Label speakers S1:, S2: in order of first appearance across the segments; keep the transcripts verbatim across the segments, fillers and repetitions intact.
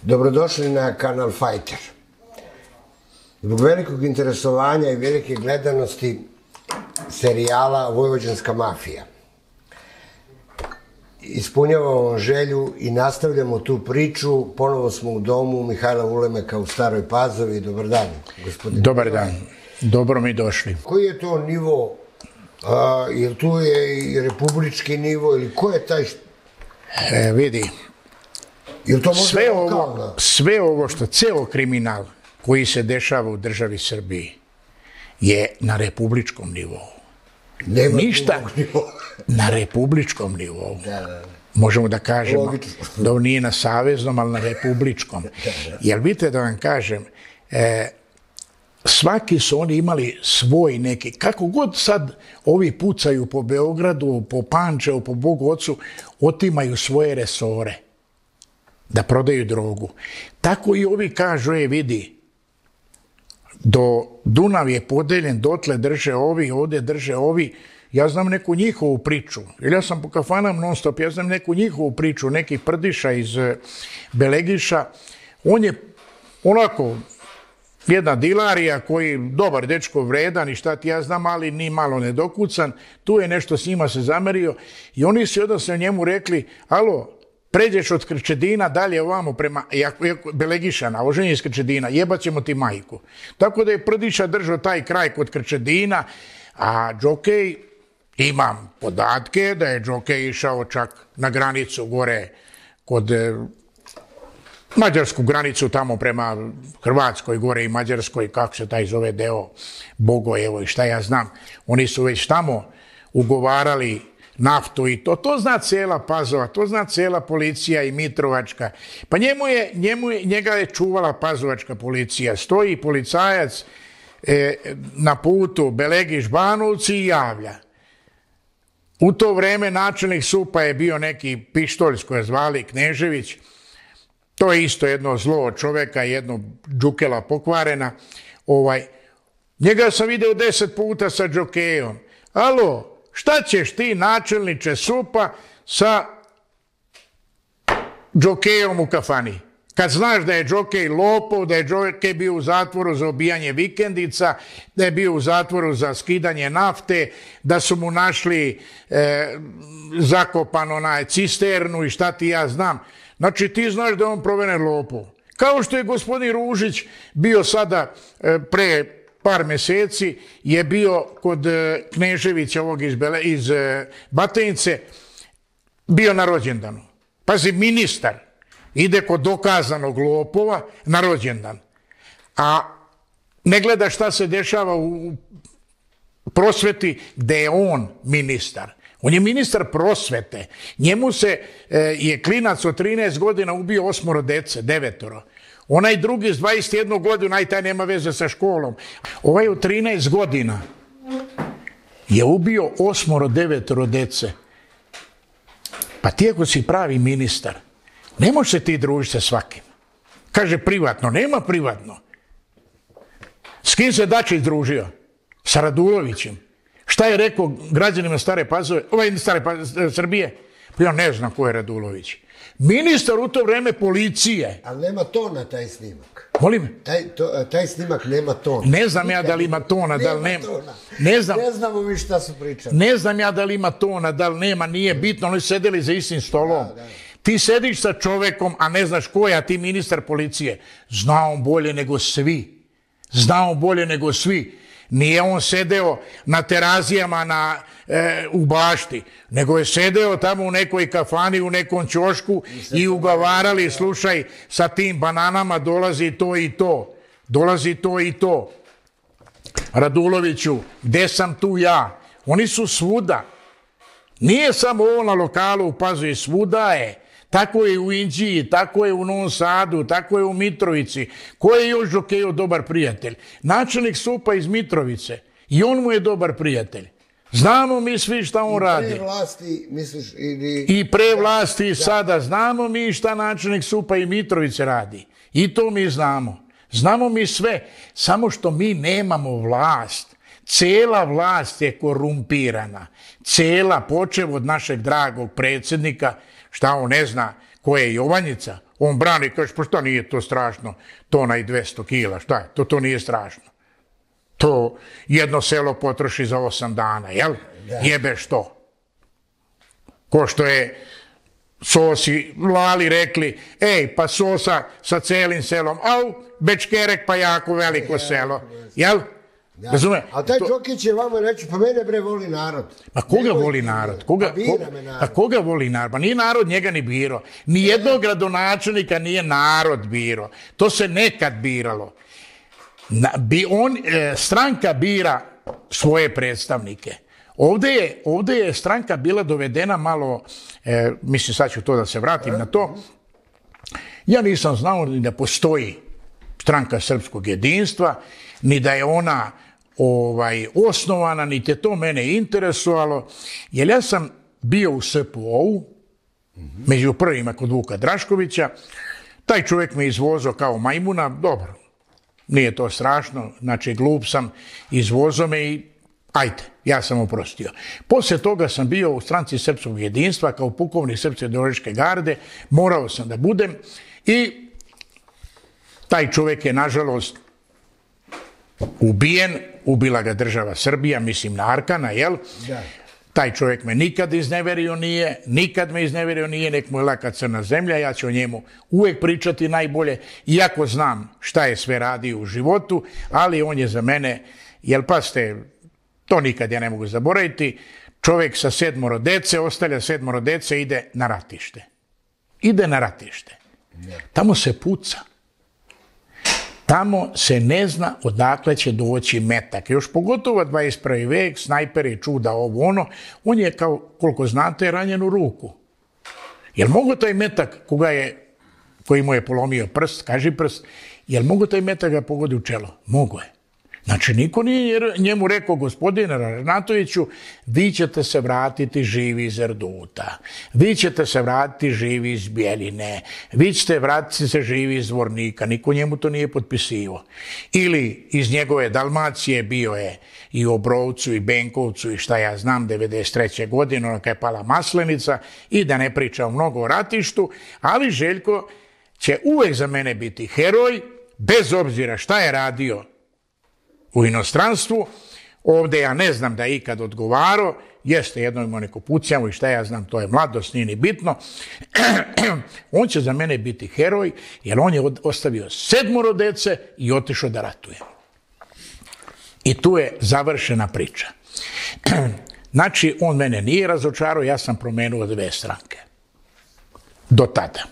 S1: Dobrodošli na kanal Fighter. Zbog velikog interesovanja i velike gledanosti serijala Vojvođanska mafija ispunjavamo želju i nastavljamo tu priču. Ponovo smo u domu Mihajla Ulemeka u Staroj Pazovi. Dobar dan, gospodine.
S2: Dobar dan. Dobro mi došli.
S1: Koji je to nivo? Jer tu je i republički nivo ili ko je taj...
S2: E, vidi, sve ovo,
S1: lokalna?
S2: sve ovo što, ceo kriminal koji se dešava u državi Srbiji je na republičkom nivou.
S1: Nema
S2: Ništa
S1: nivoa.
S2: Na republičkom nivou.
S1: Da, da.
S2: Možemo da kažemo
S1: Logično.
S2: da on nije na saveznom, ali na republičkom. Jer vidite da vam kažem, e, svaki su oni imali svoj neki, kako god sad ovi pucaju po Beogradu, po Pančevu, po Bogu Ocu, otimaju svoje resore da prodaju drogu. Tako i ovi kažu, je vidi, do Dunav je podeljen, dotle drže ovi, ovdje drže ovi. Ja znam neku njihovu priču, jer ja sam po kafanam non stop, ja znam neku njihovu priču, nekih Prdiša iz Belegiša. On je onako jedna dilarija koji, dobar dečko, vredan i šta ti ja znam, ali ni malo nedokucan, tu je nešto s njima se zamerio i oni su odnosno njemu rekli, alo, pređeš od Krčedina dalje ovamo prema Belegišana, oženje iz Krčedina, jebat ćemo ti majku. Tako da je Prdiša držao taj kraj kod Krčedina, a Džokej, imam podatke da je Džokej išao čak na granicu gore kod mađarsku granicu tamo prema Hrvatskoj gore i Mađarskoj, kako se taj zove deo, Bogojevo i šta ja znam. Oni su već tamo ugovarali naftu i to. To zna cijela Pazova, to zna cijela policija i Mitrovačka. Pa njemu je, njemu je, njega je čuvala pazovačka policija. Stoji policajac e, na putu Belegiš-Banovci i javlja. U to vreme načelnik S U P-a je bio neki pištolj s koje zvali Knežević. To je isto jedno zlo od čoveka, jedno džukela pokvarena. Ovaj, njega sam video deset puta sa Džokejom. Alo, šta ćeš ti, načelniče S U P-a, sa Džokejom u kafani? Kad znaš da je Džokej lopov, da je Džokej bio u zatvoru za obijanje vikendica, da je bio u zatvoru za skidanje nafte, da su mu našli e, zakopan onaj cisternu i šta ti ja znam. Znači ti znaš da je on proveren lopov. Kao što je gospodin Ružić bio sada e, pre par meseci, je bio kod e, Kneževića ovog iz, Bele, iz e, Batajnice, bio na rođendanu. Pazi, ministar ide kod dokazanog lopova na rođendan, a ne gleda šta se dešava u prosveti gde je on ministar. On je ministar prosvete. Njemu se e, je klinac od trinaest godina ubio osmoro dece, devetoro. Onaj drugi s dvadeset jednu godinu, aj taj nema veze sa školom. Ovaj od trinaest godina je ubio osmoro, devetoro dece. Pa ti ako si pravi ministar, ne možeš se ti družiti sa svakim. Kaže privatno, nema privatno. S kim se Dačić družio? Sa Radulovićem. Šta je rekao građanima Stare Pazove, ovaj Stare Pazove, Srbije? Pa ja ne znam ko je Radulović. Ministar u to vreme policije.
S1: Ali nema tona taj snimak.
S2: Molim?
S1: Taj, to, taj snimak nema tona.
S2: Ne znam ja da li ima tona, da li nema.
S1: Ne, znam, ne znamo vi šta su pričali.
S2: Ne znam ja da li ima tona, da li nema, nije bitno. Oni sedeli za istim stolom. Da, da. Ti sediš sa čovekom, a ne znaš ko je, a ti ministar policije. Zna on bolje nego svi. Zna on bolje nego svi. Nije on sedeo na terazijama na, e, u bašti, nego je sedeo tamo u nekoj kafani, u nekom ćošku i ugovarali, slušaj, sa tim bananama dolazi to i to. Dolazi to i to. Raduloviću, gde sam tu ja? Oni su svuda. Nije samo ovo na lokalu u Pazovi, svuda je. Tako je u Inđiji, tako je u Novom Sadu, tako je u Mitrovici. Ko je još Džokejov dobar prijatelj? Načelnik S U P-a iz Mitrovice. I on mu je dobar prijatelj. Znamo mi svi šta on radi.
S1: I pre vlasti, misliš, ili...
S2: I pre vlasti i sada. Znamo mi šta načelnik S U P-a i Mitrovice radi. I to mi znamo. Znamo mi sve. Samo što mi nemamo vlast. Cela vlast je korumpirana. Cela, počev od našeg dragog predsjednika, šta on ne zna ko je Jovanjica, On brani, kaže, pa šta nije to strašno, tona i dvesta kila, šta je, to, to nije strašno. To jedno selo potroši za osam dana, jel? Jebe što? Ko što je Sosi, Lali rekli, ej, pa Sosa sa celim selom, au, Bečkerek pa jako veliko selo, jel? Razume?
S1: A taj Đokić je vama reći, pa mene bre voli narod.
S2: Pa koga voli narod? Koga, pa koga voli narod? Pa nije narod njega ni biro. Nijednog gradonačelnika nije narod biro. To se nekad biralo. On, stranka bira svoje predstavnike. Ovdje je, ovdje je stranka bila dovedena malo, e, mislim sad ću to da se vratim na to, ja nisam znao ni da postoji stranka srpskog jedinstva, ni da je ona ovaj, osnovana, niti je to mene interesovalo, jer ja sam bio u S P O-u, među prvima kod Vuka Draškovića, taj čovjek me izvozao kao majmuna, dobro, nije to strašno, znači glup sam, izvozao me i ajde, ja sam oprostio. Poslije toga sam bio u stranci srpskog jedinstva kao pukovnik Srpske ideološke garde, morao sam da budem i taj čovjek je nažalost ubijen, ubila ga država Srbija, mislim na Arkana, jel? Da. Taj čovjek me nikad izneverio nije, nikad me izneverio nije, nek mu je laka crna zemlja, ja ću o njemu uvijek pričati najbolje, iako znam šta je sve radio u životu, ali on je za mene, jel pa ste, to nikad ja ne mogu zaboraviti, čovjek sa sedmoro dece, ostavlja sedmoro dece, ide na ratište. Ide na ratište. Tamo se puca. Tamo se ne zna odakle će doći metak. Još pogotovo dvadeset prvi vek, snajperi, čuda, ovo ono, on je kao, koliko znate, ranjen u ruku. Jel mogu taj metak koga je, koji mu je polomio prst, kaži prst, jel mogu taj metak ga pogodi u čelo? Mogu je. Znači, niko nije njemu rekao, gospodine Ražnatoviću, vi ćete se vratiti živi iz Erduta, vi ćete se vratiti živi iz Bjeline, vi ćete vratiti se živi iz Zvornika, niko njemu to nije potpisivo. Ili iz njegove Dalmacije bio je i u Obrovcu i Benkovcu i šta ja znam, devedeset treće godine, ono kad je pala Maslenica, i da ne pričam mnogo o ratištu, ali Željko će uvek za mene biti heroj, bez obzira šta je radio u inostranstvu. Ovdje ja ne znam da je ikad odgovarao, jeste jedno imao neko pucjavu i šta ja znam, to je mladost, nije ni bitno. On će za mene biti heroj, jer on je ostavio sedmoro dece i otišao da ratuje. I tu je završena priča. Znači, on mene nije razočarao, ja sam promenuo dve stranke. Do tada.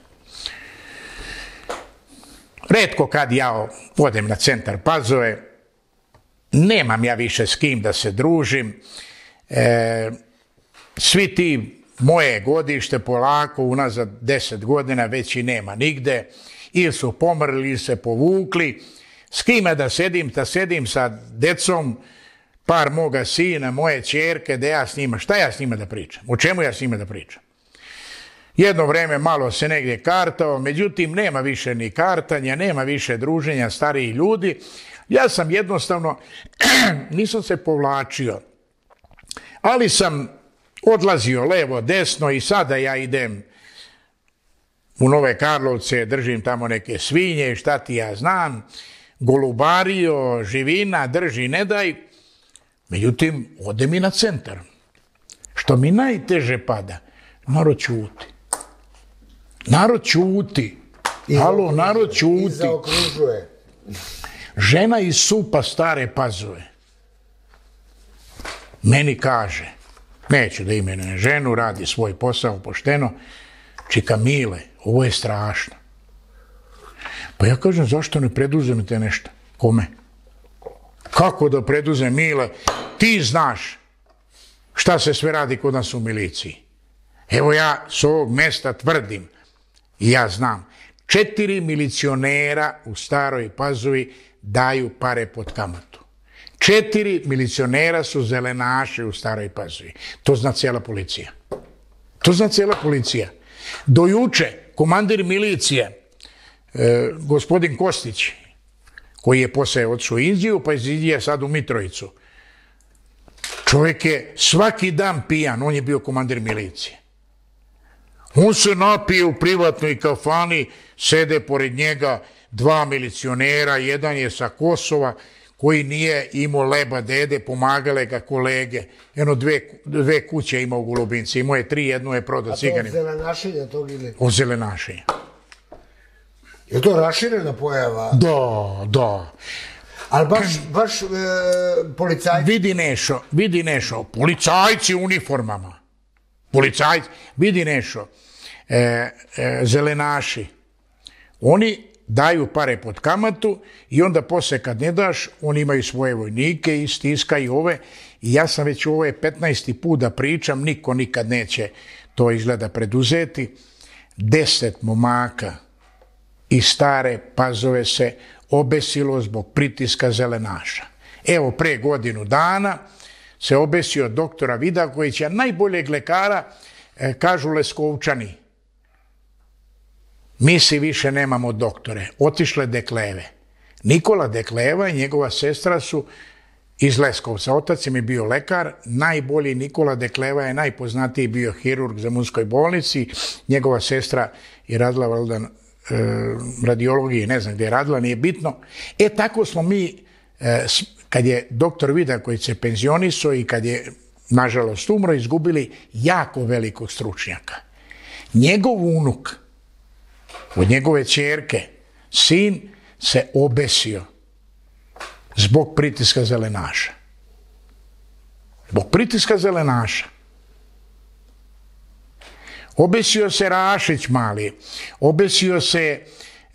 S2: Retko kad ja odem na centar Pazove, nemam ja više s kim da se družim. E, svi ti moje godište polako, unazad deset godina već i nema nigde. Ili su pomrli, ili se povukli. S kime da sedim, da sedim sa decom, par moga sina, moje ćerke, da ja s njima, šta ja s njima da pričam? O čemu ja s njima da pričam? Jedno vreme malo se negdje kartao, međutim nema više ni kartanja, nema više druženja starijih ljudi. Ja sam jednostavno, nisam se povlačio, ali sam odlazio levo, desno i sada ja idem u Nove Karlovce, držim tamo neke svinje, šta ti ja znam, golubario, živina, drži, ne daj. Međutim, ode mi na centar. Što mi najteže pada, narod ćuti. Narod ćuti. Halo, narod ćuti.
S1: I zaokružuje.
S2: Žena iz Supa Stare Pazove meni kaže, neću da imenujem ženu, radi svoj posao pošteno, čika Mile, ovo je strašno. Pa ja kažem, zašto ne preduzmete nešto? Kome? Kako da preduzem, Mile? Ti znaš šta se sve radi kod nas u miliciji. Evo ja s ovog mesta tvrdim, i ja znam, četiri milicionera u Staroj Pazovi daju pare pod kamatu. Četiri milicionera su zelenaši u Staroj Pazovi. To zna cijela policija. To zna cijela policija. Do juče komandir milicije, e, gospodin Kostić, koji je posle otišao u Indiju, pa iz Indije sad u Mitrovicu. Čovjek je svaki dan pijan, on je bio komandir milicije. On se napije u privatnoj kafani, sede pored njega dva milicionera, jedan je sa Kosova, koji nije imao leba dede, pomagale ga kolege. Jedno dve, dve kuće imao u Golubinci, imao je tri, jednu je prodao ciganima.
S1: A to od zelenašenja tog ili?
S2: Od zelenašenja.
S1: Je to raširena pojava?
S2: Da, da.
S1: Ali baš, baš e, policajci?
S2: Vidi Nešo, vidi Nešo, policajci u uniformama. Policajci, vidi Nešo, e, e, zelenaši. Oni daju pare pod kamatu i onda posle kad ne daš, oni imaju svoje vojnike i stiskaju ove. I ja sam već ovo je petnaesti put da pričam, niko nikad neće to izgleda preduzeti. Deset momaka i Stare Pazove se obesilo zbog pritiska zelenaša. Evo, pre godinu dana se obesio doktora Vidakovića, najboljeg lekara, e, kažu Leskovčani. Mi si više nemamo doktore, otišle Dekleve. Nikola Dekleva i njegova sestra su iz Leskovca. Otac im je bio lekar, najbolji Nikola Dekleva je najpoznatiji bio hirurg za Zemunskoj bolnici, njegova sestra je radila valjda radiologije, ne znam gdje je radila, nije bitno. E, tako smo mi, kad je doktor Vidaković se penzionisao i kad je, nažalost, umro, izgubili jako velikog stručnjaka. Njegov unuk, od njegove ćerke, sin se obesio zbog pritiska zelenaša. Zbog pritiska zelenaša. Obesio se Rašić mali, obesio se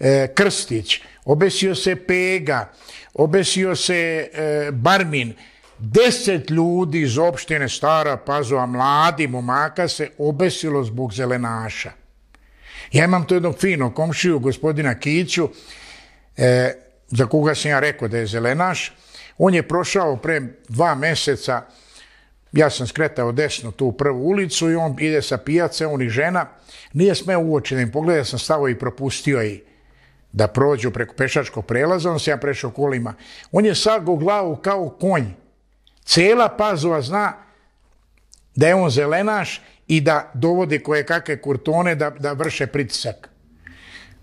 S2: e, Krstić, obesio se Pega, obesio se e, Barmin. Deset ljudi iz opštine Stara Pazova, mladi momaka, se obesilo zbog zelenaša. Ja imam to jednog finog komšiju, gospodina Kiću, e, za koga sam ja rekao da je zelenaš. On je prošao pre dva meseca, ja sam skretao desno tu u prvu ulicu i on ide sa pijace, on i žena. Nije smeo uoči da im pogleda, ja sam stao i propustio i da prođu preko pešačkog prelaza, on se ja prešao kolima. On je sagao glavu kao konj. Cela Pazova zna da je on zelenaš i da dovode koje kakve kurtone da, da vrše pritisak.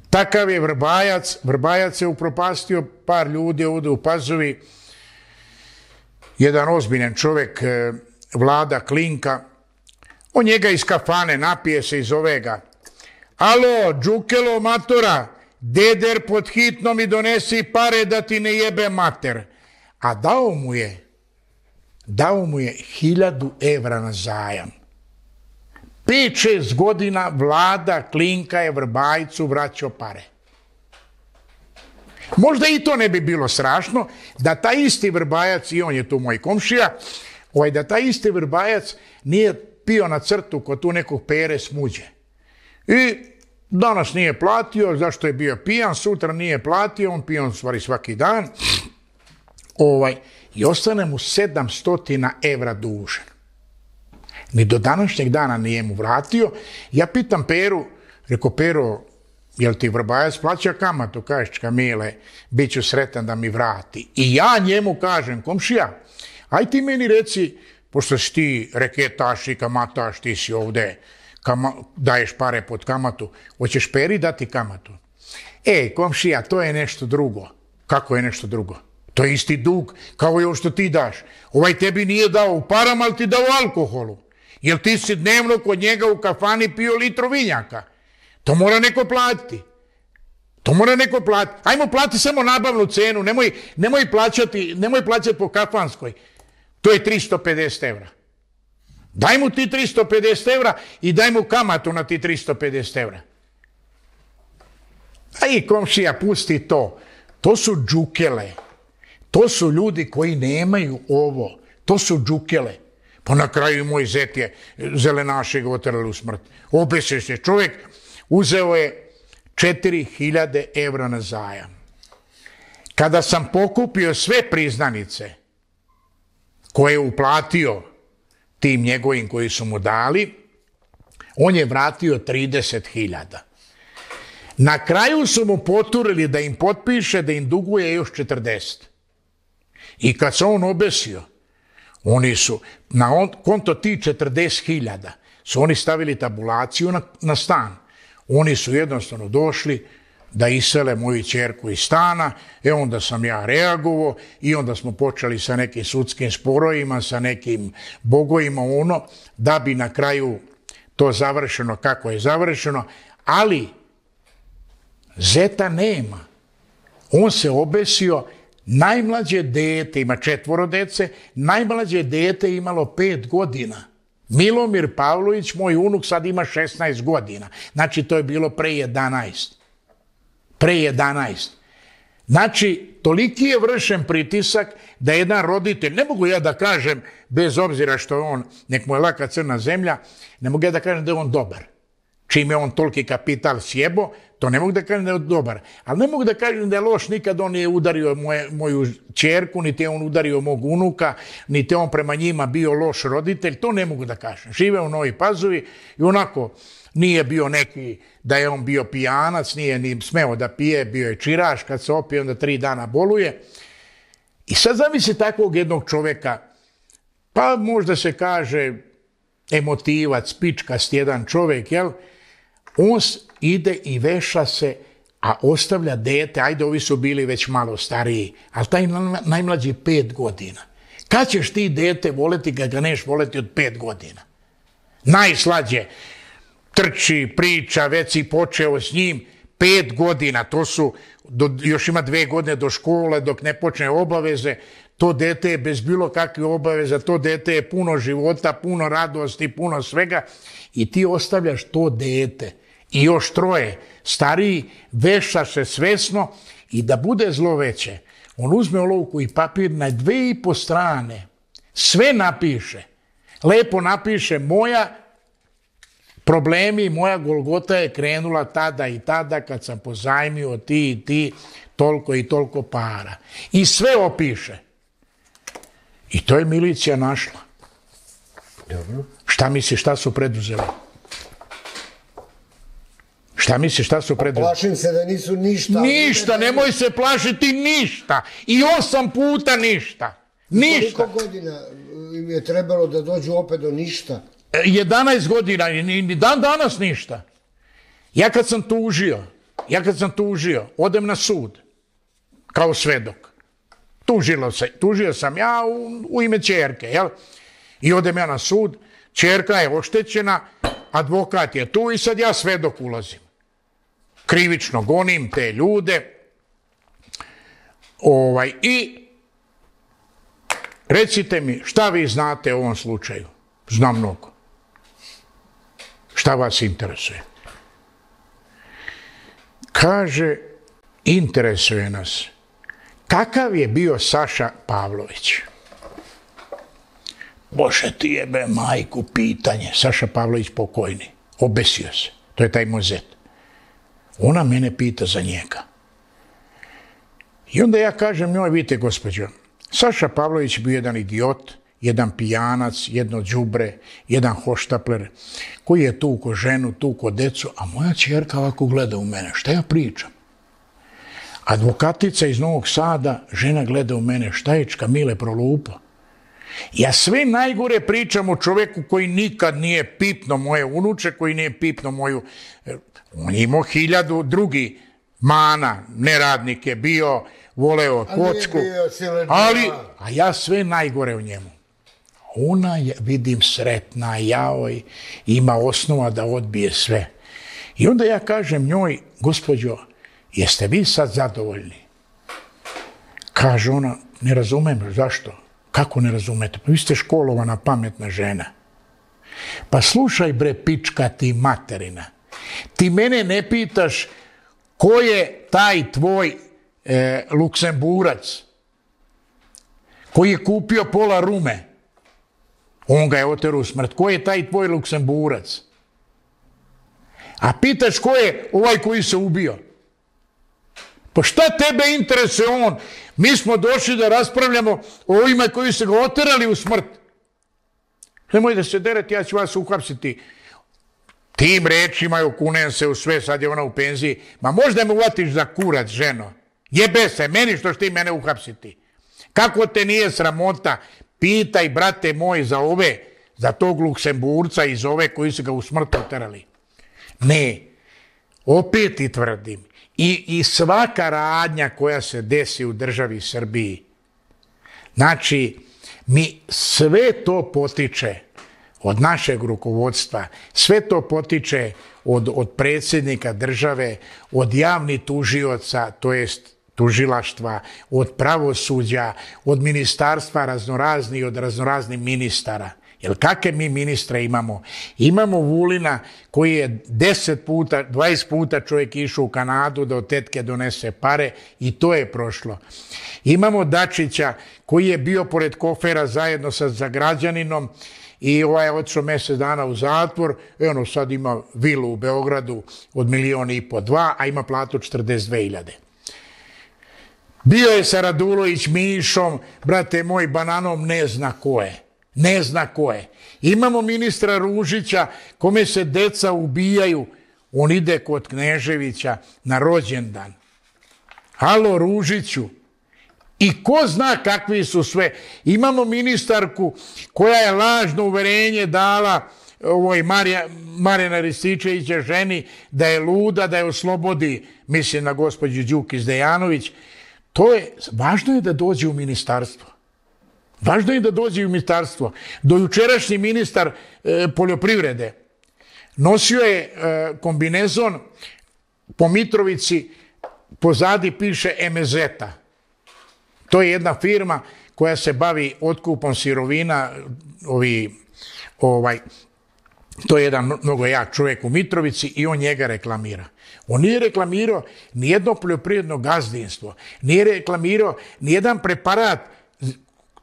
S2: Takav je Vrbajac, Vrbajac je upropastio par ljudi ovdje u Pazovi, jedan ozbiljan čovjek, Vlada Klinka, on njega iz kafane napije se iz ovega. Alo, Đukelo matora, deder pod hitno mi donesi pare da ti ne jebe mater. A dao mu je, dao mu je hiljadu evra na zajam. Pet, šest godina Vlada Klinka je Vrbajcu vraćao pare. Možda i to ne bi bilo strašno da taj isti Vrbajac, i on je tu moj komšija, ovaj, da taj isti Vrbajac nije pio na crtu kod tu nekog Pere Smuđe. I danas nije platio, zašto je bio pijan, sutra nije platio, on pijan stvari svaki dan, ovaj, i ostane mu sedamsto evra dužan. Ni do današnjeg dana nije mu vratio. Ja pitam Peru, reko, Pero, jel ti Vrbajac plaća kamatu? Kažeš, Kamile, bit ću sretan da mi vrati. I ja njemu kažem, komšija, aj ti meni reci, pošto si ti reketaš i kamataš, ti si ovde, kama, daješ pare pod kamatu, hoćeš Peri dati kamatu? Ej, komšija, to je nešto drugo. Kako je nešto drugo? To je isti dug, kao i ovo što ti daš. Ovaj tebi nije dao u parama, ali ti dao u alkoholu. Jer ti si dnevno kod njega u kafani pio litru vinjaka. To mora neko platiti. To mora neko platiti. Ajmo plati samo nabavnu cenu, nemoj, nemoj, plaćati, nemoj plaćati po kafanskoj. To je tristo pedeset evra. Daj mu ti tristo pedeset evra i daj mu kamatu na ti tristo pedeset evra. A i komšija, pusti to. To su džukele. To su ljudi koji nemaju ovo. To su džukele. Pa na kraju moj zet je zelenaše ga otrali u smrt. Obese se čovjek, uzeo je četiri hiljade evra na zajam. Kada sam pokupio sve priznanice koje je uplatio tim njegovim koji su mu dali, on je vratio trideset hiljada. Na kraju su mu poturili da im potpiše da im duguje još četrdeset. I kad se on obesio, oni su na konto ti četrdeset hiljada su oni stavili tabulaciju na, na stan. Oni su jednostavno došli da isele moju ćerku iz stana, e onda sam ja reagovao i onda smo počeli sa nekim sudskim sporovima, sa nekim bogovima, ono, da bi na kraju to završeno kako je završeno, ali zeta nema. On se obesio, najmlađe dete, ima četvoro dece, najmlađe dete imalo pet godina. Milomir Pavlović, moj unuk, sad ima šesnaest godina. Znači, to je bilo pre jedanaest. Pre jedanaest. Znači, toliki je vršen pritisak da jedan roditelj, ne mogu ja da kažem, bez obzira što je on, nek mu je laka crna zemlja, ne mogu ja da kažem da je on dobar. Čim je on toliki kapital sjebo, to ne mogu da kažem da je dobar. Ali ne mogu da kažem da je loš, nikad on nije udario moje, moju ćerku, niti je on udario mog unuka, niti je on prema njima bio loš roditelj, to ne mogu da kažem. Žive u Novoj Pazovi i onako nije bio neki da je on bio pijanac, nije ni smeo da pije, bio je čiraš, kad se opije onda tri dana boluje. I sad zamisli takvog jednog čoveka, pa možda se kaže emotivac, pičkast jedan čovjek, jel? On ide i veša se, a ostavlja dete, ajde ovi su bili već malo stariji, ali taj najmlađi pet godina. Kad ćeš ti dete voleti kad ga neš voleti od pet godina? Najslađe trči, priča, već si počeo s njim, pet godina, to su, do, još ima dve godine do škole dok ne počne obaveze, to dete je bez bilo kakve obaveza, to dete je puno života, puno radosti, puno svega i ti ostavljaš to dete i još troje stariji, veša se svesno i da bude zlo veće, on uzme olovku i papir na dve i po strane, sve napiše, lepo napiše moja problemi, moja Golgota je krenula tada i tada kad sam pozajmio ti i ti toliko i toliko para. I sve opiše. I to je milicija našla.
S1: Dobro.
S2: Šta misliš, šta su preduzeli? Šta misliš, šta su preduzeli?
S1: Plašim se da nisu ništa.
S2: Ništa, nemoj se plašiti ništa. I osam puta ništa. Ništa.
S1: Koliko godina im je trebalo da dođu opet do ništa?
S2: jedanaest godina, ni dan danas ništa. Ja kad sam tužio, ja kad sam tužio, odem na sud, kao svedok. Tužilo se, tužio sam ja u, u ime ćerke, jel? I odem ja na sud, ćerka je oštećena, advokat je tu i sad ja svedok ulazim. Krivično gonim te ljude. Ovaj, i recite mi, šta vi znate o ovom slučaju? Znam mnogo. Šta vas interesuje? Kaže, interesuje nas. Kakav je bio Saša Pavlović? Bože ti jebe majku pitanje. Saša Pavlović pokojni. Obesio se. To je taj mozet. Ona mene pita za njega. I onda ja kažem njoj, vidite gospođo, Saša Pavlović bio jedan idiot, jedan pijanac, jedno đubre, jedan hoštapler, koji je tuko ženu, tuko decu, a moja ćerka ovako gleda u mene. Šta ja pričam? Advokatica iz Novog Sada, žena gleda u mene, šta je Čkamile prolupa? Ja sve najgore pričam o čoveku koji nikad nije pipno moje unuče, koji nije pipno moju... On je imao hiljadu drugi mana, neradnik je bio, voleo kocku, ali, a ja sve najgore u njemu. Ona je, vidim, sretna, jaoj, ima osnova da odbije sve. I onda ja kažem njoj, gospođo, jeste vi sad zadovoljni? Kaže ona, ne razumem, zašto? Kako ne razumete? Pa vi ste školovana, pametna žena. Pa slušaj bre, pička ti materina. Ti mene ne pitaš ko je taj tvoj e, Luksemburac koji je kupio pola Rume. On ga je oterao u smrt. Ko je taj tvoj Luksemburac? A pitaš ko je ovaj koji se ubio? Pa šta tebe interesuje on? Mi smo došli da raspravljamo o ovima koji se ga oterali u smrt. Nemoj da se derete, ja ću vas uhapsiti. Tim rečima okunem se u sve, sad je ona u penziji. Ma možda me uvatiš za kurac, ženo. Jebe se, meni što ti mene uhapsiti. Kako te nije sramota? Pitaj, brate moj, za ove, za tog Luksemburca iz ove koji su ga u smrt uterali. Ne, opet i tvrdim, i, i svaka radnja koja se desi u državi Srbiji, znači, mi sve to potiče od našeg rukovodstva, sve to potiče od, od predsjednika države, od javnih tužioca, to jest tužilaštva, od pravosuđa, od ministarstva raznorazni, od raznoraznih ministara. Jer kakve mi ministre imamo? Imamo Vulina koji je deset puta, dvadeset puta čovjek išao u Kanadu da od tetke donese pare i to je prošlo. Imamo Dačića koji je bio pored kofera zajedno sa Zagrađaninom i ovaj je otišao mjesec dana u zatvor i ono sad ima vilu u Beogradu od milion i po dva, a ima platu četrdeset dve hiljade. Bio je sa Radulović Mišom, brate moj, bananom ne zna ko je. Ne zna ko je. Imamo ministra Ružića kome se deca ubijaju, on ide kod Kneževića na rođendan. Halo Ružiću. I ko zna kakvi su sve. Imamo ministarku koja je lažno uverenje dala ovoj Marija, Marijana Rističevića ženi da je luda, da je oslobodi, mislim na gospođu Đukić-Dejanović. To je, važno je da dođe u ministarstvo. Važno je da dođe u ministarstvo. Dojučerašnji ministar e, poljoprivrede nosio je e, kombinezon po Mitrovici, pozadi piše Emezeta. To je jedna firma koja se bavi otkupom sirovina, ovi, ovaj, to je jedan mnogo jak čovjek u Mitrovici i on njega reklamira. On nije reklamirao nijedno poljoprivredno gazdinstvo, nije reklamirao nijedan preparat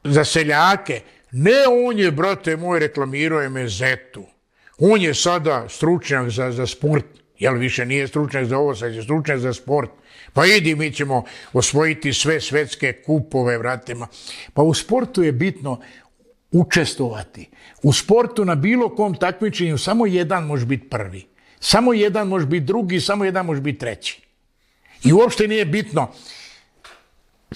S2: za seljake. Ne, on je, brate moj, reklamirao je Mezetu. On je sada stručnjak za, za sport, jel više nije stručnjak za ovo, sad je stručnjak za sport. Pa idi, mi ćemo osvojiti sve svetske kupove, vratima. Pa u sportu je bitno učestvovati. U sportu na bilo kom takmičenju samo jedan može biti prvi. Samo jedan može biti drugi, samo jedan može biti treći. I uopšte nije bitno,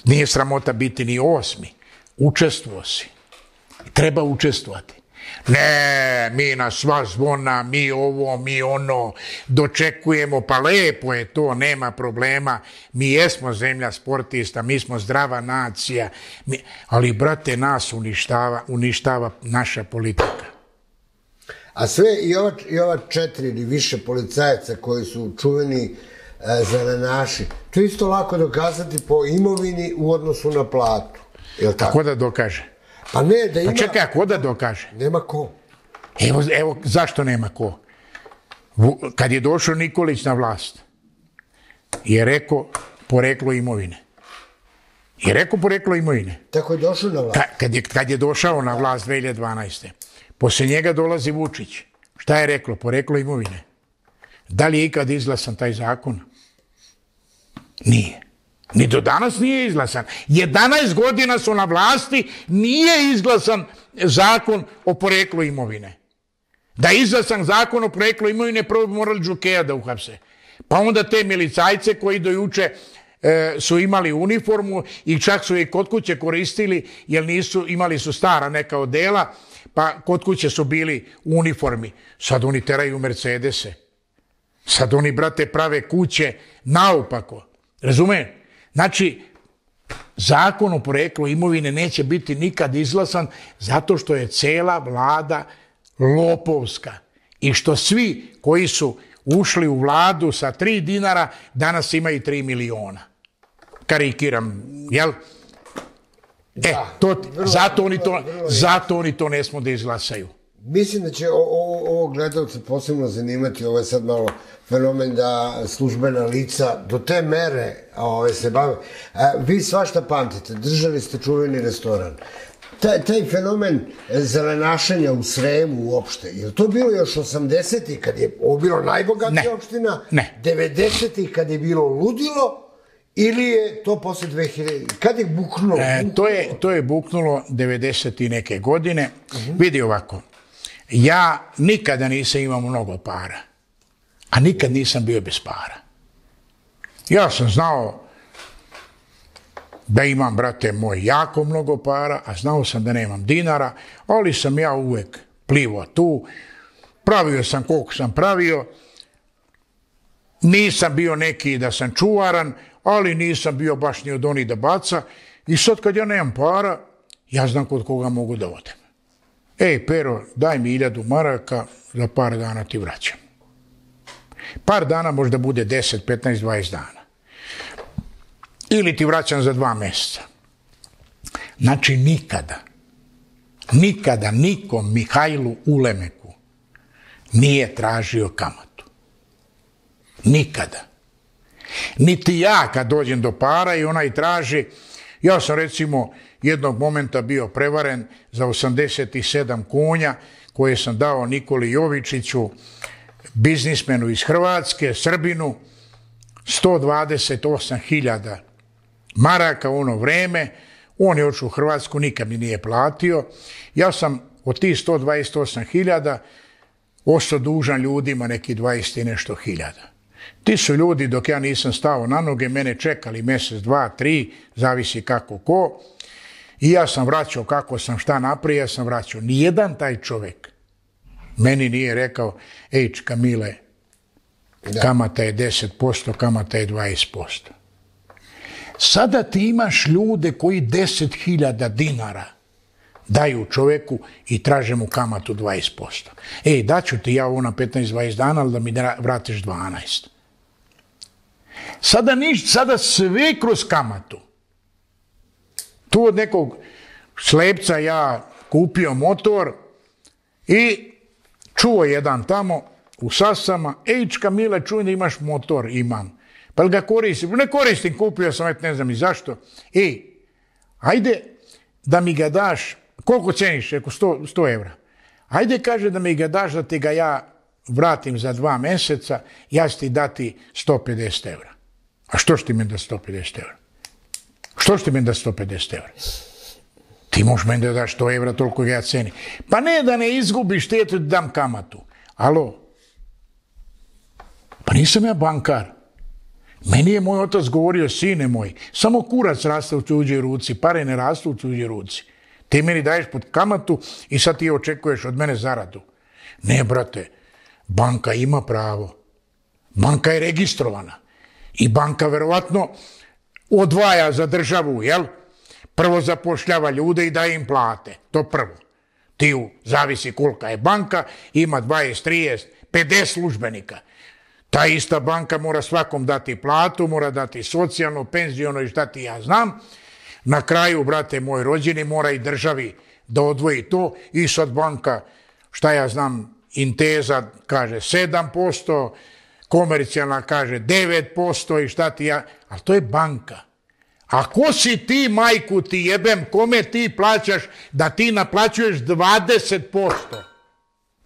S2: nije sramota biti ni osmi. Učestvovao si. Treba učestvovati. Ne, mi na sva zvona, mi ovo, mi ono, dočekujemo, pa lepo je to, nema problema. Mi jesmo zemlja sportista, mi smo zdrava nacija, mi, ali, brate, nas uništava, uništava naša politika.
S1: A sve i ova, i ova četiri ili više policajaca koji su čuveni e, zelenaši, to je isto lako dokazati po imovini u odnosu na platu. Jel tako?
S2: Ko da dokaže?
S1: Pa ne, da ima...
S2: Pa čekaj, ko da dokaže?
S1: Nema ko.
S2: Evo, evo, zašto nema ko? Kad je došao Nikolić na vlast, je rekao poreklo imovine. Je rekao poreklo imovine.
S1: Tako je došao na vlast.
S2: Ka, kad, je, kad je došao na vlast dve hiljade dvanaeste. Poslije njega dolazi Vučić. Šta je reklo? Poreklo imovine. Da li je ikad izglasan taj zakon? Nije. Ni do danas nije izglasan. jedanaest godina su na vlasti, nije izglasan zakon o poreklu imovine. Da je izglasan zakon o poreklu imovine, prvo bi morali Đukeja da uhapse. Pa onda te milicajce koji do juče e, su imali uniformu i čak su je kod kuće koristili, jer nisu, imali su stara neka odela, pa kod kuće su bili u uniformi. Sad oni teraju Mercedese. Sad oni, brate, prave kuće naopako. Razumije? Znači, zakon o poreklu imovine neće biti nikad izglasan zato što je cela vlada lopovska. I što svi koji su ušli u vladu sa tri dinara danas imaju tri miliona. Karikiram, jel? E, to, zato, oni to, zato oni to ne smo da izglasaju.
S1: Mislim da će ovo gledalce posebno zanimati, ovo je sad malo fenomen da službena lica do te mere ove, se bave. A, vi svašta pamtite, držali ste čuveni restoran. Taj, taj fenomen zelenašenja u Sremu uopšte, je li to bilo još osamdesetih kad je ovo bilo najbogatija
S2: ne.
S1: opština?
S2: Ne.
S1: devedesetih kad je bilo ludilo? Ili je to posle dve hiljade... Kad je buknulo?
S2: E, to, je, to je buknulo devedeset i neke godine. Uh-huh. Vidi ovako. Ja nikada nisam imao mnogo para. A nikad nisam bio bez para. Ja sam znao da imam, brate moj, jako mnogo para, a znao sam da nemam dinara, ali sam ja uvek plivo tu. Pravio sam koliko sam pravio. Nisam bio neki da sam čuvaran, ali nisam bio baš ni od onih da baca. I sad kad ja nemam para, ja znam kod koga mogu da odem. Ej, Pero, daj mi hiljadu maraka, za par dana ti vraćam. Par dana možda bude deset, petnaest, dvadeset dana. Ili ti vraćam za dva mjeseca. Znači nikada, nikada nikom Mihajlu Ulemeku nije tražio kamatu. Nikada. Niti ja kad dođem do para i onaj traži, ja sam recimo jednog momenta bio prevaren za osamdeset sedam konja koje sam dao Nikoli Jovičiću, biznismenu iz Hrvatske, Srbinu, sto dvadeset osam hiljada maraka u ono vreme. On je otišao u Hrvatsku, nikad mi nije platio. Ja sam od tih sto dvadeset osam hiljada ostao dužan ljudima neki dvadeset i nešto hiljada. Ti su ljudi, dok ja nisam stao na noge, mene čekali mjesec, dva, tri, zavisi kako ko. I ja sam vraćao kako sam šta naprije, ja sam vraćao. Nijedan taj čovjek meni nije rekao, ej, Kamile, kamata je deset posto, kamata je dvadeset posto. Sada ti imaš ljude koji deset hiljada dinara daju čovjeku i traže mu kamatu dvadeset posto. Ej, daću ti ja ovo na petnaest dvadeset dana, ali da mi vratiš dvanaest. Sada ništa, sada sve kroz kamatu. Tu od nekog slepca ja kupio motor i čuo jedan tamo u Sasama, ej, Kamile, čujem da imaš motor, imam. Pa li ga koristim? Ne koristim, kupio sam, et ne znam i zašto. Ej, ajde da mi ga daš, koliko ceniš? Eko sto, sto evra. Ajde, kaže, da mi ga daš, da ti ga ja vratim za dva mjeseca, ja ću ti dati sto pedeset evra. A što ću ti meni da sto pedeset evra? Što ću ti meni da sto pedeset evra? Ti možeš meni da daš sto evra, toliko ga ja ceni. Pa ne da ne izgubiš, ti ti dam kamatu. Alo? Pa nisam ja bankar. Meni je moj otac govorio, sine moj, samo kurac raste u tuđoj ruci, pare ne rastu u tuđoj ruci. Ti meni daješ pod kamatu i sad ti očekuješ od mene zaradu. Ne, brate, banka ima pravo. Banka je registrovana. I banka verovatno odvaja za državu, jel? Prvo zapošljava ljude i daje im plate. To prvo. Ti u, zavisi kolika je banka, ima dvadeset, trideset, pedeset službenika. Ta ista banka mora svakom dati platu, mora dati socijalno, penziono i šta ti ja znam. Na kraju, brate moj rođeni, mora i državi da odvoji to i sad banka, šta ja znam, Inteza kaže sedam posto, komercijalna kaže devet posto i šta ti ja, ali to je banka. A ko si ti, majku ti jebem, kome ti plaćaš da ti naplaćuješ dvadeset posto?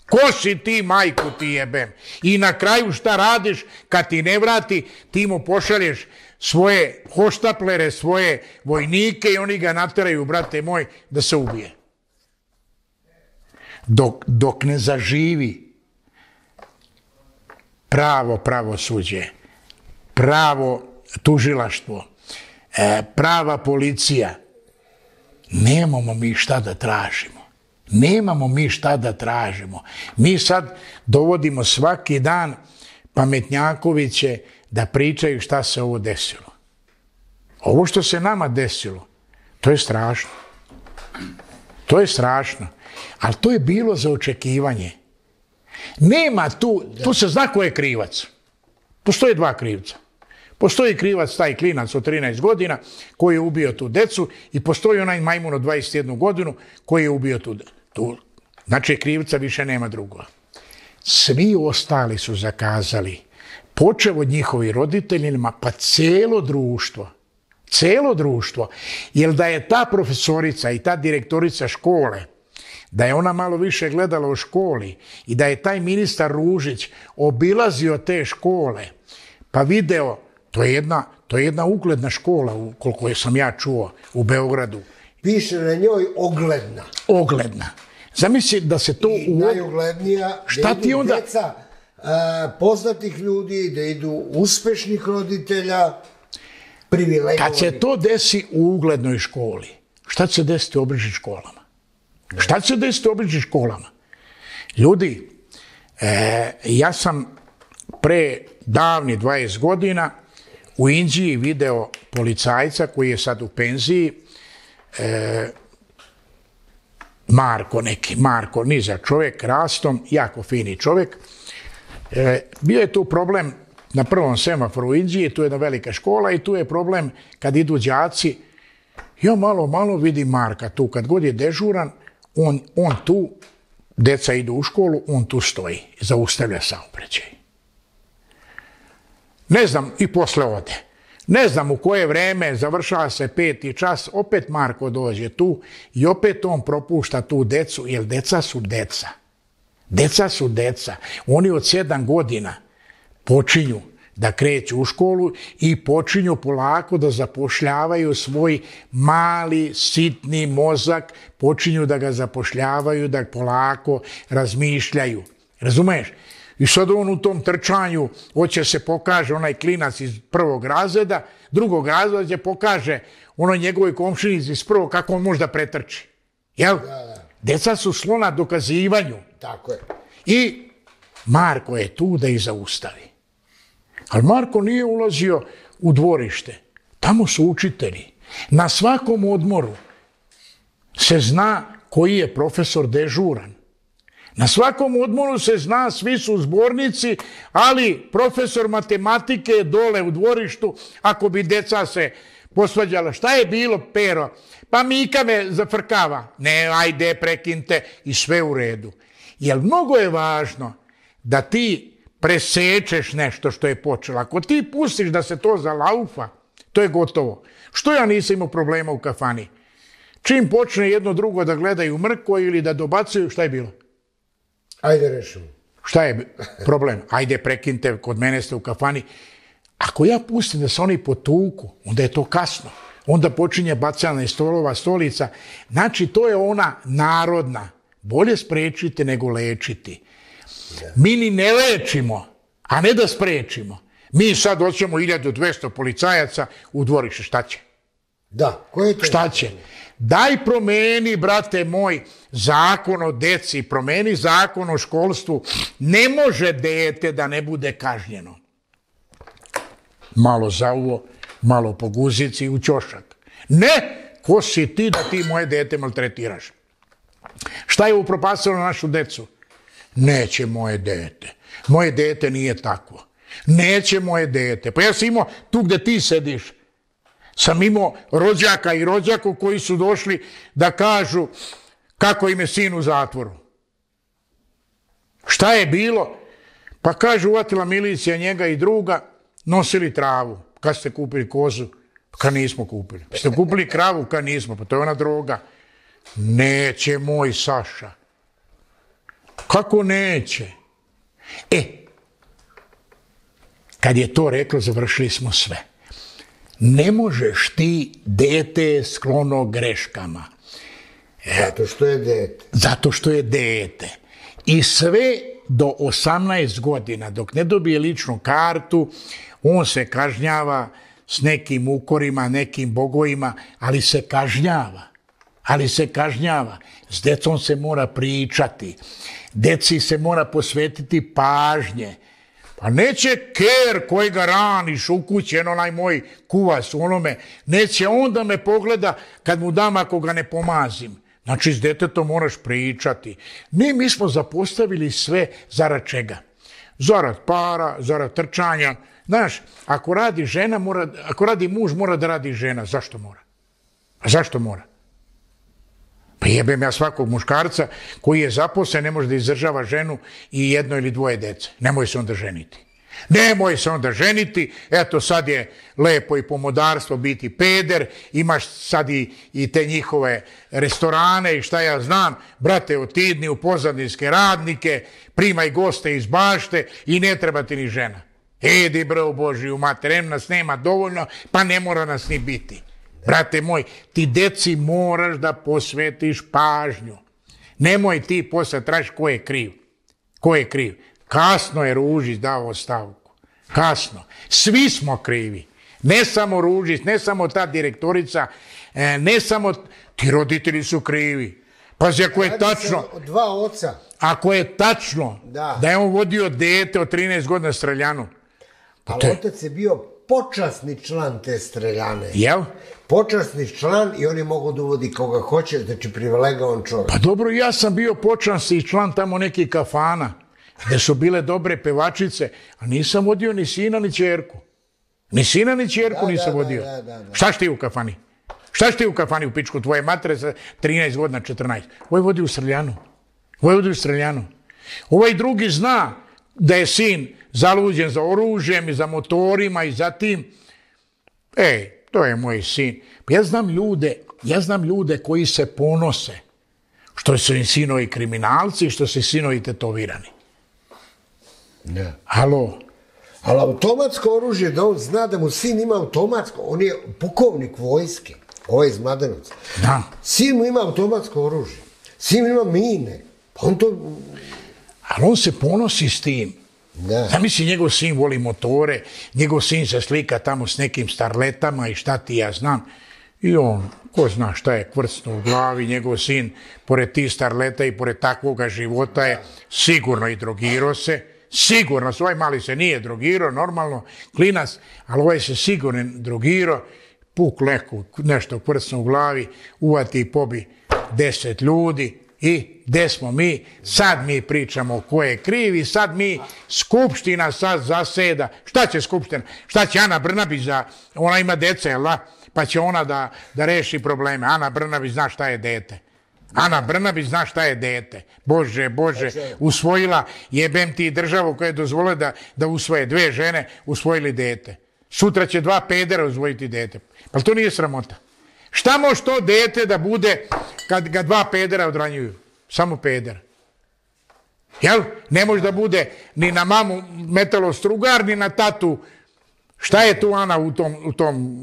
S2: Ko si ti, majku ti jebem? I na kraju šta radiš kad ti ne vrati, ti mu pošalješ svoje hoštaplere, svoje vojnike i oni ga nateraju, brate moj, da se ubije. Dok, dok ne zaživi pravo pravosuđe, pravo tužilaštvo, e, prava policija, nemamo mi šta da tražimo. Nemamo mi šta da tražimo. Mi sad dovodimo svaki dan pametnjakoviće da pričaju šta se ovo desilo. Ovo što se nama desilo, to je strašno. To je strašno. Ali to je bilo za očekivanje. Nema tu, tu se zna ko je krivac. Postoje dva krivca. Postoji krivac, taj klinac od trinaest godina koji je ubio tu decu i postoji onaj majmun od dvadeset jednu godinu koji je ubio tu decu. Znači, krivca više nema drugoga. Svi ostali su zakazali, počev od njihovi roditeljima, pa cijelo društvo. Cijelo društvo. Jer da je ta profesorica i ta direktorica škole, da je ona malo više gledala u školi i da je taj ministar Ružić obilazio te škole, pa video, to je jedna, to je jedna ugledna škola, koliko sam ja čuo, u Beogradu.
S1: Piše na njoj ogledna.
S2: Ogledna. Zamisli da se to...
S1: I najuglednija,
S2: šta
S1: da
S2: ti
S1: idu
S2: onda...
S1: djeca a, poznatih ljudi, da idu uspešnih roditelja, privilegovanih.
S2: Kad se to desi u uglednoj školi, šta će se desiti u obližnjim školama? Ne. Šta će se desiti u obližnjim školama? Ljudi, e, ja sam pre davni dvadeset godina u Inđiji video policajca koji je sad u penziji, e, Marko neki, Marko, nizak čovjek, rastom, jako fini čovjek. E, bio je tu problem na prvom semaforu u Inđiji, tu je jedna velika škola i tu je problem kad idu đaci. Ja malo, malo vidim Marka tu, kad god je dežuran, on, on tu, deca idu u školu, on tu stoji, zaustavlja saobraćaj. Ne znam, i posle ode. Ne znam u koje vreme, završava se peti čas, opet Marko dođe tu i opet on propušta tu decu, jer deca su deca. Deca su deca. Oni od sedam godina počinju da kreću u školu i počinju polako da zapošljavaju svoj mali, sitni mozak, počinju da ga zapošljavaju, da polako razmišljaju. Razumeš? I sad on u tom trčanju hoće se pokaže onaj klinac iz prvog razreda, drugog razreda će pokaže onoj njegovoj komšinici iz prvog kako on može da pretrči. Jel? Da, da. Deca su slona dokazivanju.
S1: Tako je.
S2: I Marko je tu da ih zaustavi. Ali Marko nije ulazio u dvorište. Tamo su učitelji. Na svakom odmoru se zna koji je profesor dežuran. Na svakom odmoru se zna, svi su zbornici, ali profesor matematike je dole u dvorištu, ako bi deca se posvađala. Šta je bilo, Pero? Pa Mika me zafrkava. Ne, ajde, prekinte i sve u redu. Jer mnogo je važno da ti presečeš nešto što je počelo. Ako ti pustiš da se to zalaufa, to je gotovo. Što ja nisam imao problema u kafani? Čim počne jedno drugo da gledaju mrko ili da dobacuju, šta je bilo?
S1: Ajde rešimo.
S2: Šta je problem? Ajde prekinte, kod mene ste u kafani. Ako ja pustim da se oni potuku, onda je to kasno. Onda počinje bacanje stolova, stolica. Znači, to je ona narodna. Bolje sprečiti nego lečiti. Mi ni ne lečimo, a ne da sprečimo. Mi sad hoćemo hiljadu dvesta policajaca u dvorište. Šta će?
S1: Da, ko je to?
S2: Šta će? Daj promeni, brate moj, zakon o deci, promeni zakon o školstvu. Ne može dete da ne bude kažnjeno. Malo za uvo, malo po guzici u ćošak. Ne, ko si ti da ti moje dete maltretiraš? Šta je upropastilo našu decu? Neće moje dete. Moje dete nije takvo. Neće moje dete. Pa ja sam imao tu gde ti sediš. Sam imao rođaka i rođaku koji su došli da kažu kako im je sin u zatvoru. Šta je bilo? Pa kažu, uvatila milicija njega i druga, nosili travu. Kad ste kupili kozu? Kad nismo kupili. Ste kupili kravu? Kad nismo. Pa to je ona droga. Neće moj Saša. Kako neće? E, kad je to reklo, završili smo sve. Ne možeš ti dete sklono greškama.
S1: Zato što je dete.
S2: Zato što je dete. I sve do osamnaest godina, dok ne dobije ličnu kartu, on se kažnjava s nekim ukorima, nekim bogovima, ali se kažnjava. Ali se kažnjava. S decom se mora pričati. Deci se mora posvetiti pažnje. Pa neće ker koji ga raniš u kući, eno onaj moj kuvas u onome, neće on da me pogleda kad mu dam ako ga ne pomazim. Znači, s detetom moraš pričati. Ne, mi smo zapostavili sve zarad čega? Zarad para, zarad trčanja. Znaš, ako radi žena, mora, ako radi muž, mora da radi žena. Zašto mora? A zašto mora? Pa jebem ja svakog muškarca koji je zaposlen, ne može da izdržava ženu i jedno ili dvoje dece. Nemoj se onda ženiti. Nemoj se onda ženiti, eto sad je lepo i pomodarstvo biti peder, imaš sad i, i te njihove restorane i šta ja znam, brate, otidni u pozadinske radnike, primaj goste iz bašte i ne treba ti ni žena. Edi bre u Božiju mater, em nas nema dovoljno, pa ne mora nas ni biti. Brate moj, ti deci moraš da posvetiš pažnju. Nemoj ti posle tražiš ko je kriv. Ko je kriv? Kasno je Ružić dao ostavku. Kasno. Svi smo krivi. Ne samo Ružić, ne samo ta direktorica, ne samo ti roditelji su krivi. Pazi, ako je tačno,
S1: dva oca.
S2: Ako je tačno
S1: da,
S2: da je on vodio dete od trinaest godina streljanu.
S1: Ali te... otac je bio počasni član te streljane.
S2: Jel?
S1: Počasni član i on je mogao da uvodi koga hoće, znači privilegovan čovjek.
S2: Pa dobro, ja sam bio počasni član tamo nekih kafana, gde su bile dobre pevačice, a nisam vodio ni sina ni ćerku. Ni sina ni ćerku
S1: da,
S2: nisam
S1: da,
S2: vodio.
S1: Da, da, da.
S2: Šta si ti u kafani? Šta si ti u kafani u pičku? Tvoje matere sa trinaest godina, četrnaest. Ovo je vodio u streljanu. Ovo je vodio u streljanu. Ovaj drugi zna da je sin zaluđen za oružjem i za motorima i za tim. Ej, to je moj sin. Ja znam ljude, ja znam ljude koji se ponose što su im sinovi kriminalci i što su sinovi tetovirani.
S1: Ne.
S2: Halo?
S1: Ali automatsko oružje, da on zna da mu sin ima automatsko, on je pukovnik vojske, ovaj iz Mladenovca.
S2: Da.
S1: Sin mu ima automatsko oružje, sin ima mine, pa on to...
S2: Ali on se ponosi s tim.
S1: Da.
S2: Zamisli, njegov sin voli motore, njegov sin se slika tamo s nekim starletama i šta ti ja znam. I on, ko zna šta je kvrcno u glavi, njegov sin, pored tih starleta i pored takvoga života je sigurno i drogirao se. Sigurno, svoj mali se nije drogirao, normalno, klinac, ali ovaj se sigurno drogirao, puk leku, nešto kvrcno u glavi, uvati i pobi deset ljudi i gde smo mi? Sad mi pričamo ko je krivi, sad mi, Skupština sad zaseda. Šta će Skupština? Šta će Ana Brnabić da, ona ima dece, jel da? Pa će ona da, da reši probleme. Ana Brnabić zna šta je dete. Ana Brnabić zna šta je dete. Bože, Bože, usvojila, jebem ti državu koja je dozvolila da, da usvoje dve žene, usvojili dete. Sutra će dva pedera usvojiti dete. Pa to nije sramota. Šta može to dete da bude kad ga dva pedera odranjuju? Samo peder. Jel? Ne može da bude ni na mamu metalostrugar, ni na tatu. Šta je tu Ana u tom, u tom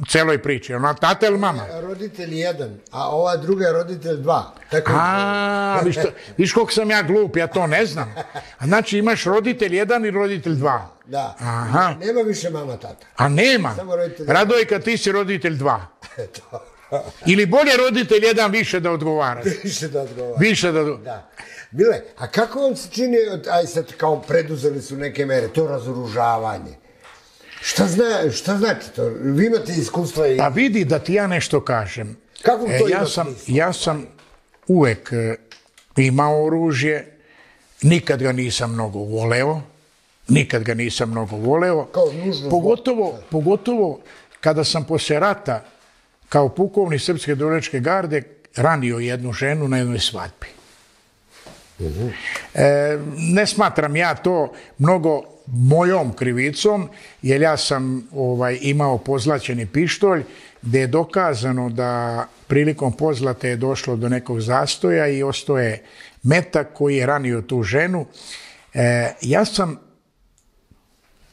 S2: celoj priči? Ona tata ili mama?
S1: Roditelj jedan, a ova druga je roditelj dva. Tako...
S2: A, viš, to, viš koliko sam ja glup, ja to ne znam. A znači imaš roditelj jedan i roditelj dva.
S1: Da.
S2: Aha.
S1: Nema više mama, tata.
S2: A nema. Radojka, ti si roditelj dva. Ili bolje roditelj jedan više da odgovara.
S1: Više da odgovara.
S2: Više da...
S1: Da. Bile, a kako vam se čini, aj sad kao preduzeli su neke mere, to razoružavanje? Šta, zna, šta znači to? Vi imate iskustva i...
S2: Pa vidi da ti ja nešto kažem.
S1: Kako to
S2: e, ja, sam, ja sam uvek e, imao oružje, nikad ga nisam mnogo voleo, nikad ga nisam mnogo voleo, pogotovo, pogotovo kada sam posle rata kao pukovnik Srpske dobrovoljačke garde ranio jednu ženu na jednoj svadbi. Uh-huh. e, ne smatram ja to mnogo mojom krivicom, jer ja sam ovaj, imao pozlaćeni pištolj, gde je dokazano da prilikom pozlate je došlo do nekog zastoja i ostao je metak koji je ranio tu ženu. E, ja sam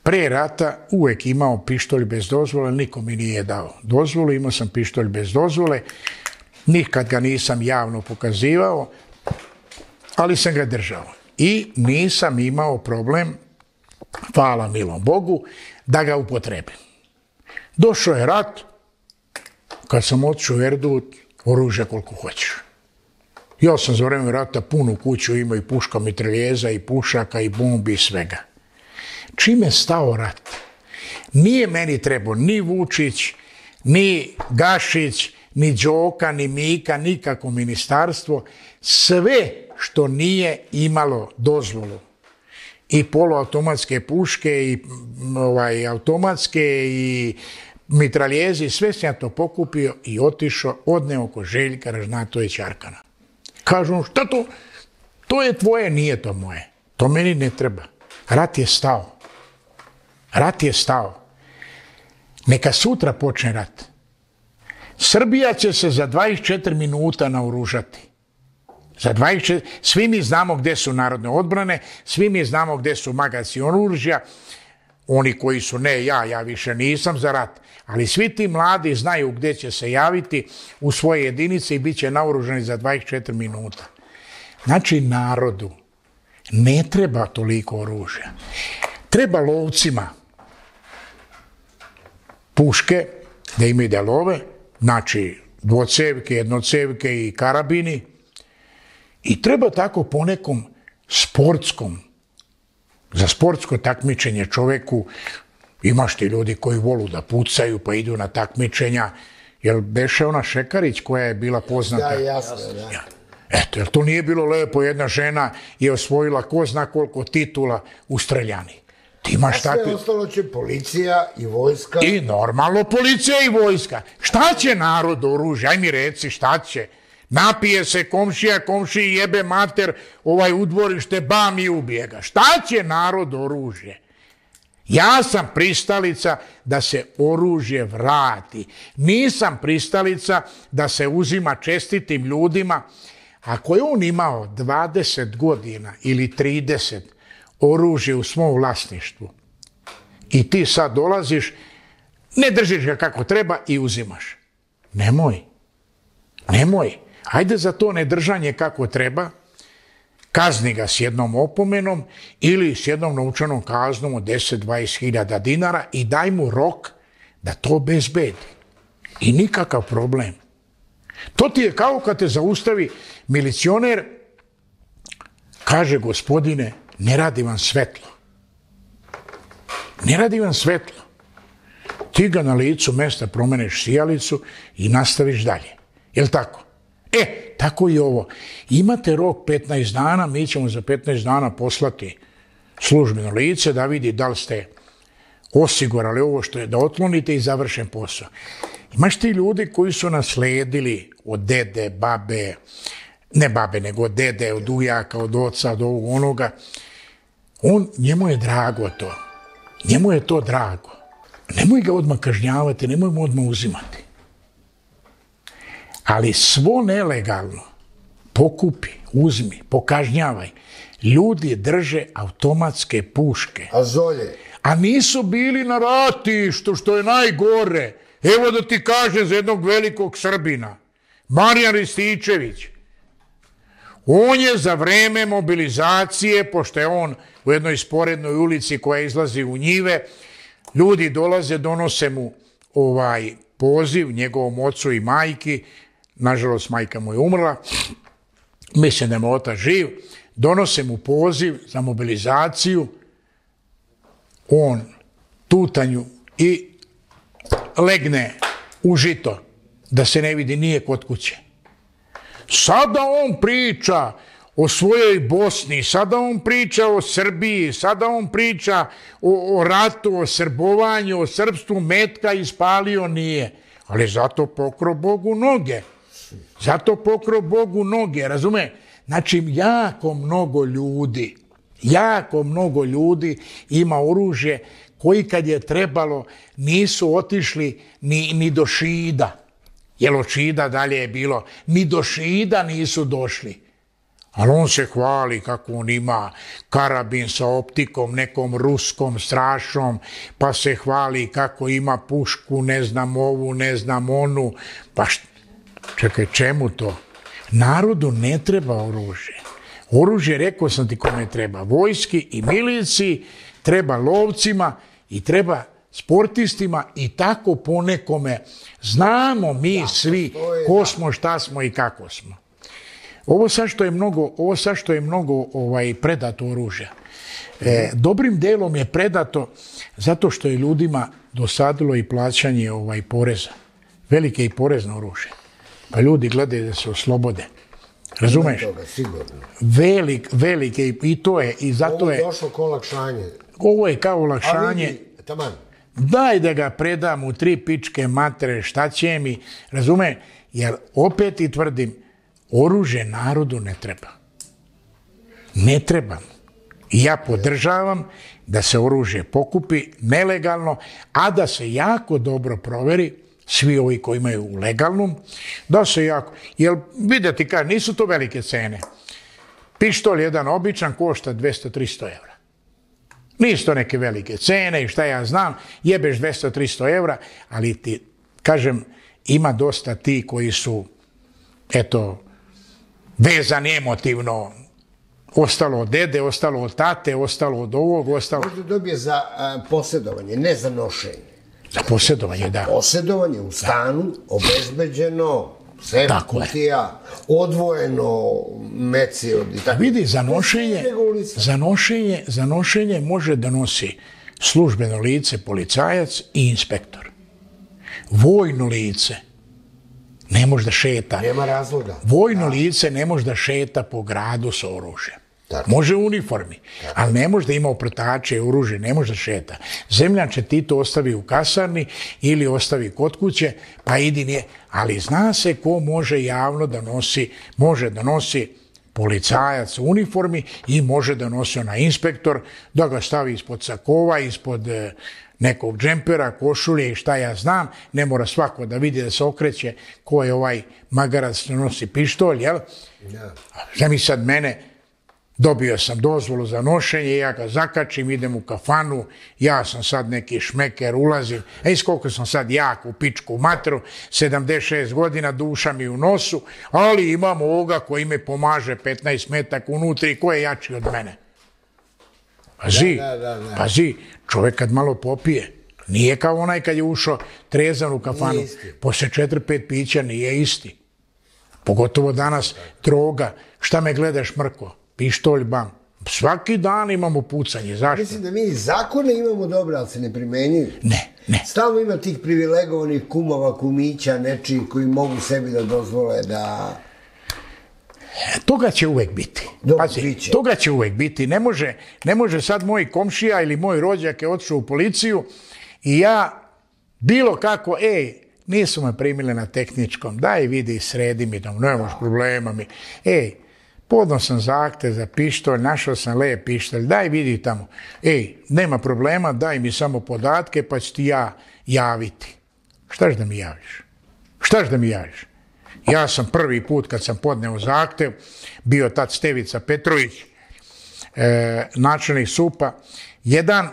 S2: pre rata uvek imao pištolj bez dozvole, niko mi nije dao dozvolu, imao sam pištolj bez dozvole, nikad ga nisam javno pokazivao, ali sam ga držao. I nisam imao problem, hvala milom Bogu, da ga upotrebim. Došao je rat, kad sam otišao u Erdut, oružja koliko hoćeš. Ja sam za vreme rata punu kuću imao i puška mitraljeza, i pušaka, i bombi, i svega. Čim je stao rat, nije meni trebao ni Vučić, ni Gašić, ni Đoka, ni Mika, nikako ministarstvo, sve što nije imalo dozvolu. I poluautomatske puške, i ovaj, automatske, i mitraljezi, sve sam ja to pokupio i otišao, odneo oko Željka Ražnatovića Arkana. Kažu, šta to? To je tvoje, nije to moje. To meni ne treba. Rat je stao. Rat je stao. Neka sutra počne rat. Srbija će se za dvadeset četiri minuta naoružati. Za dvadeset četiri... Svi mi znamo gde su narodne odbrane, svi mi znamo gde su magaci oružja, oni koji su ne ja, ja više nisam za rat, ali svi ti mladi znaju gde će se javiti u svoje jedinice i bit će naoružani za dvadeset četiri minuta. Znači, narodu ne treba toliko oružja. Treba lovcima puške, da imaju da love, znači dvocevke, jednocevke i karabini, I treba tako po nekom sportskom, za sportsko takmičenje čoveku, imaš ti ljudi koji volu da pucaju pa idu na takmičenja, jel beše ona Šekarić koja je bila poznata?
S1: Da, jasno, da.
S2: Eto, jer to nije bilo lepo, jedna žena je osvojila ko zna koliko titula u streljani. Ti imaš
S1: A sve
S2: takvi...
S1: ostalo će policija i vojska.
S2: I normalno policija i vojska. Šta će narod oružje? Aj mi reci, šta će? Napije se komšija, komšiji jebe mater, ovaj u dvorište, bam i ubije ga. Šta će narod oružje? Ja sam pristalica da se oružje vrati. Nisam pristalica da se uzima čestitim ljudima. Ako je on imao dvadeset godina ili trideset oružje u svom vlasništvu i ti sad dolaziš, ne držiš ga kako treba i uzimaš. Nemoj. Nemoj. Ajde za to nedržanje kako treba, kazni ga s jednom opomenom ili s jednom novčanom kaznom od deset do dvadeset hiljada dinara i daj mu rok da to obezbedi. I nikakav problem. To ti je kao kad te zaustavi milicioner, kaže gospodine, ne radi vam svetlo. Ne radi vam svetlo. Ti ga na licu mesta promeneš sijalicu i nastaviš dalje. Jel' tako? E, tako i ovo. Imate rok petnaest dana, mi ćemo za petnaest dana poslati službeno lice da vidi da li ste osigurali ovo što je da otklonite i završen posao. Imaš ti ljudi koji su nasledili od dede, babe, ne babe, nego od dede, od ujaka, od oca, od ovog onoga. On, njemu je drago to. Njemu je to drago. Nemoj ga odmah kažnjavati, nemoj mu odmah uzimati. Ali svo nelegalno pokupi, uzmi, pokažnjavaj. Ljudi drže automatske puške.
S1: A zolje?
S2: A nisu bili na ratištu, što je najgore. Evo da ti kažem za jednog velikog Srbina, Marijan Rističević. On je za vreme mobilizacije, pošto je on u jednoj sporednoj ulici koja izlazi u njive, ljudi dolaze, donose mu ovaj poziv njegovom ocu i majki, nažalost majka mu je umrla, mislim da je mu otac živ, donose mu poziv za mobilizaciju, on tutanju i legne u žito, da se ne vidi nije kod kuće. Sada on priča o svojoj Bosni, sada on priča o Srbiji, sada on priča o, o ratu, o srbovanju, o srpstvu, metka ispalio nije. Ali zato pokro Bogu noge. Zato pokro Bogu noge, razume? Znači, jako mnogo ljudi, jako mnogo ljudi ima oružje koji kad je trebalo nisu otišli ni, ni do Šida. Jer od Šida dalje je bilo, ni do Šida nisu došli. Ali on se hvali kako on ima karabin sa optikom, nekom ruskom strašnom, pa se hvali kako ima pušku, ne znam ovu, ne znam onu. Pa št... čekaj, čemu to? Narodu ne treba oružje. Oružje, rekao sam ti kome treba, vojski i miliciji, treba lovcima i treba sportistima i tako po nekome. Znamo mi svi ko smo, šta smo i kako smo. Ovo sad što je mnogo, ovo sad što je mnogo ovaj, predato oružja. E, dobrim delom je predato zato što je ljudima dosadilo i plaćanje ovaj, poreza. Velike i porezno oružje. Pa ljudi gledaju da se oslobode. Razumeš? Velik, velike i to je. I zato
S1: ovo
S2: je
S1: došlo kao olakšanje.
S2: Ovo je kao olakšanje.
S1: Ali, taman.
S2: Daj da ga predam u tri pičke matere, šta će mi, razume? Jer opet i tvrdim, oružje narodu ne treba. Ne treba. I ja podržavam da se oružje pokupi nelegalno, a da se jako dobro proveri, svi ovi koji imaju u legalnom, da se jako... Jer vidjeti, kaže, nisu to velike cene. Pištolj jedan običan košta dvesta do trista evra. Nisu to neke velike cene i šta ja znam, jebeš dvesta do trista evra, ali ti, kažem, ima dosta ti koji su, eto, vezani emotivno, ostalo od dede, ostalo od tate, ostalo od ovog, ostalo...
S1: Možda dobije za a, posjedovanje, ne za nošenje.
S2: Za posjedovanje, da.
S1: Posjedovanje u stanu, obezbeđeno, Sef kutija, odvojeno meci od i tako.
S2: Vidi, za nošenje, za nošenje, za nošenje može da nosi službeno lice, policajac i inspektor. Vojno lice ne može da šeta.
S1: Nema razloga.
S2: Vojno lice ne može da šeta po gradu sa oružjem. Može u uniformi, ali ne može da ima oprtače i oružje, ne može da šeta. Zemljače ti to ostavi u kasarni ili ostavi kod kuće, pa idi nije. Ali zna se ko može javno da nosi, može da nosi policajac u uniformi i može da nosi onaj inspektor, da ga stavi ispod sakova, ispod nekog džempera, košulje i šta ja znam. Ne mora svako da vidi da se okreće ko je ovaj magarac što nosi pištolj, jel? Šta mi sad mene... Dobio sam dozvolu za nošenje, ja ga zakačim, idem u kafanu, ja sam sad neki šmeker, ulazim, ej, koliko sam sad jak u pičku matru, sedamdeset šest godina, duša mi u nosu, ali imam ovoga koji me pomaže petnaest metaka unutri, ko je jači od mene. Pazi, pazi, čovjek kad malo popije, nije kao onaj kad je ušao trezan u kafanu, posle četiri pet pića nije isti. Pogotovo danas, droga, šta me gledaš mrko? Pištolj, bam. Svaki dan imamo pucanje. Zašto?
S1: Mislim da mi zakone imamo dobre, ali se ne primenjuju.
S2: Ne, ne.
S1: Stalno ima tih privilegovanih kumova, kumića, nečiji koji mogu sebi da dozvole da...
S2: Toga će uvek biti. Pazi, toga će uvek biti. Ne može, ne može sad moj komšija ili moj rođak je otišao u policiju i ja bilo kako, ej, nisu me primili na tehničkom, daj vidi, sredi mi, da nemaš problema mi. Ej, podno sam zahtev za pištolj, našao sam lep pištolj, daj vidi tamo. Ej, nema problema, daj mi samo podatke pa ću ti ja javiti. Štaš da mi javiš? Štaš da mi javiš? Ja sam prvi put kad sam podneo zahtev, bio tad Stevica Petrović, e, načelnik S U P-a, jedan,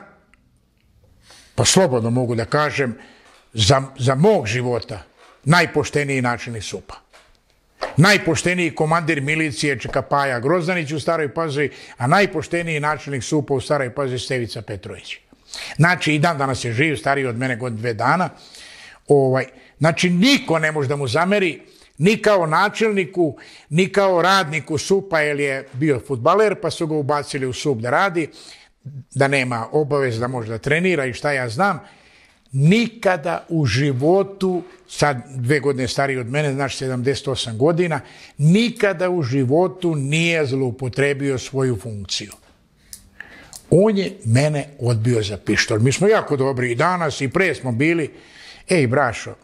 S2: pa slobodno mogu da kažem, za, za mog života, najpošteniji načelnik S U P-a. Najpošteniji komandir milicije Čekapaja Grozdanić u Staroj Pazovi, a najpošteniji načelnik S U P-a u Staroj Pazovi Stevica Petrović. Znači, i dan danas je živ, stariji od mene godinu dve dana. Ovaj, znači, niko ne može da mu zameri, ni kao načelniku, ni kao radniku S U P-a, jer je bio fudbaler, pa su ga ubacili u S U P da radi, da nema obavez da može da trenira i šta ja znam. Nikada u životu, sad dve godine stariji od mene, znači sedamdeset osam godina, nikada u životu nije zloupotrebio svoju funkciju. On je mene odbio za pištolj. Mi smo jako dobri i danas i pre smo bili. Ej, brašo,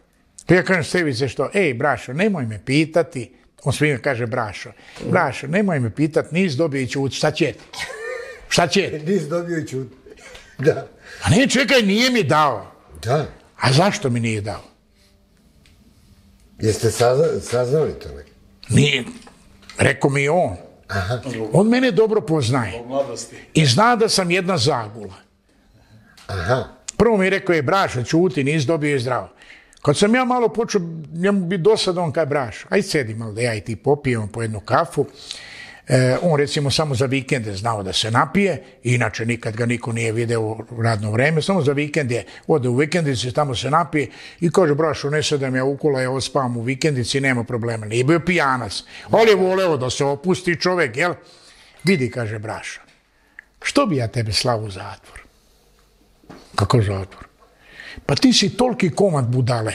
S2: to ja kažem Stevice što, ej, brašo, nemoj me pitati, on svima kaže brašo, brašo, nemoj me pitati, nis dobio i ćut, šta će ti? Šta će ti?
S1: Nis dobio i ćut, da.
S2: A ne, čekaj, nije mi dao.
S1: Da.
S2: A zašto mi nije dao?
S1: Jeste saznali to neki?
S2: Nije. Rekao mi je on.
S1: Aha.
S2: On mene dobro poznaje. I zna da sam jedna zagula.
S1: Aha.
S2: Prvo mi je rekao, je brašo, čuti, nis dobio i zdravo. Kad sam ja malo počeo, njemu bi dosadno, on kaj brašo, aj sedi malo da ja i ti popijemo po jednu kafu. E, on recimo samo za vikende znao da se napije, inače nikad ga niko nije video u radno vreme, samo za vikend je, ode u vikendici, tamo se napije i kaže, brašo, ne sedam ja ukula, ja ospavam u vikendici, nema problema, nije bio pijanac, ali je voleo da se opusti čovek, jel? Vidi, kaže brašo, što bi ja tebe slao u zatvor? Kako zatvor? Pa ti si toliki komad budale,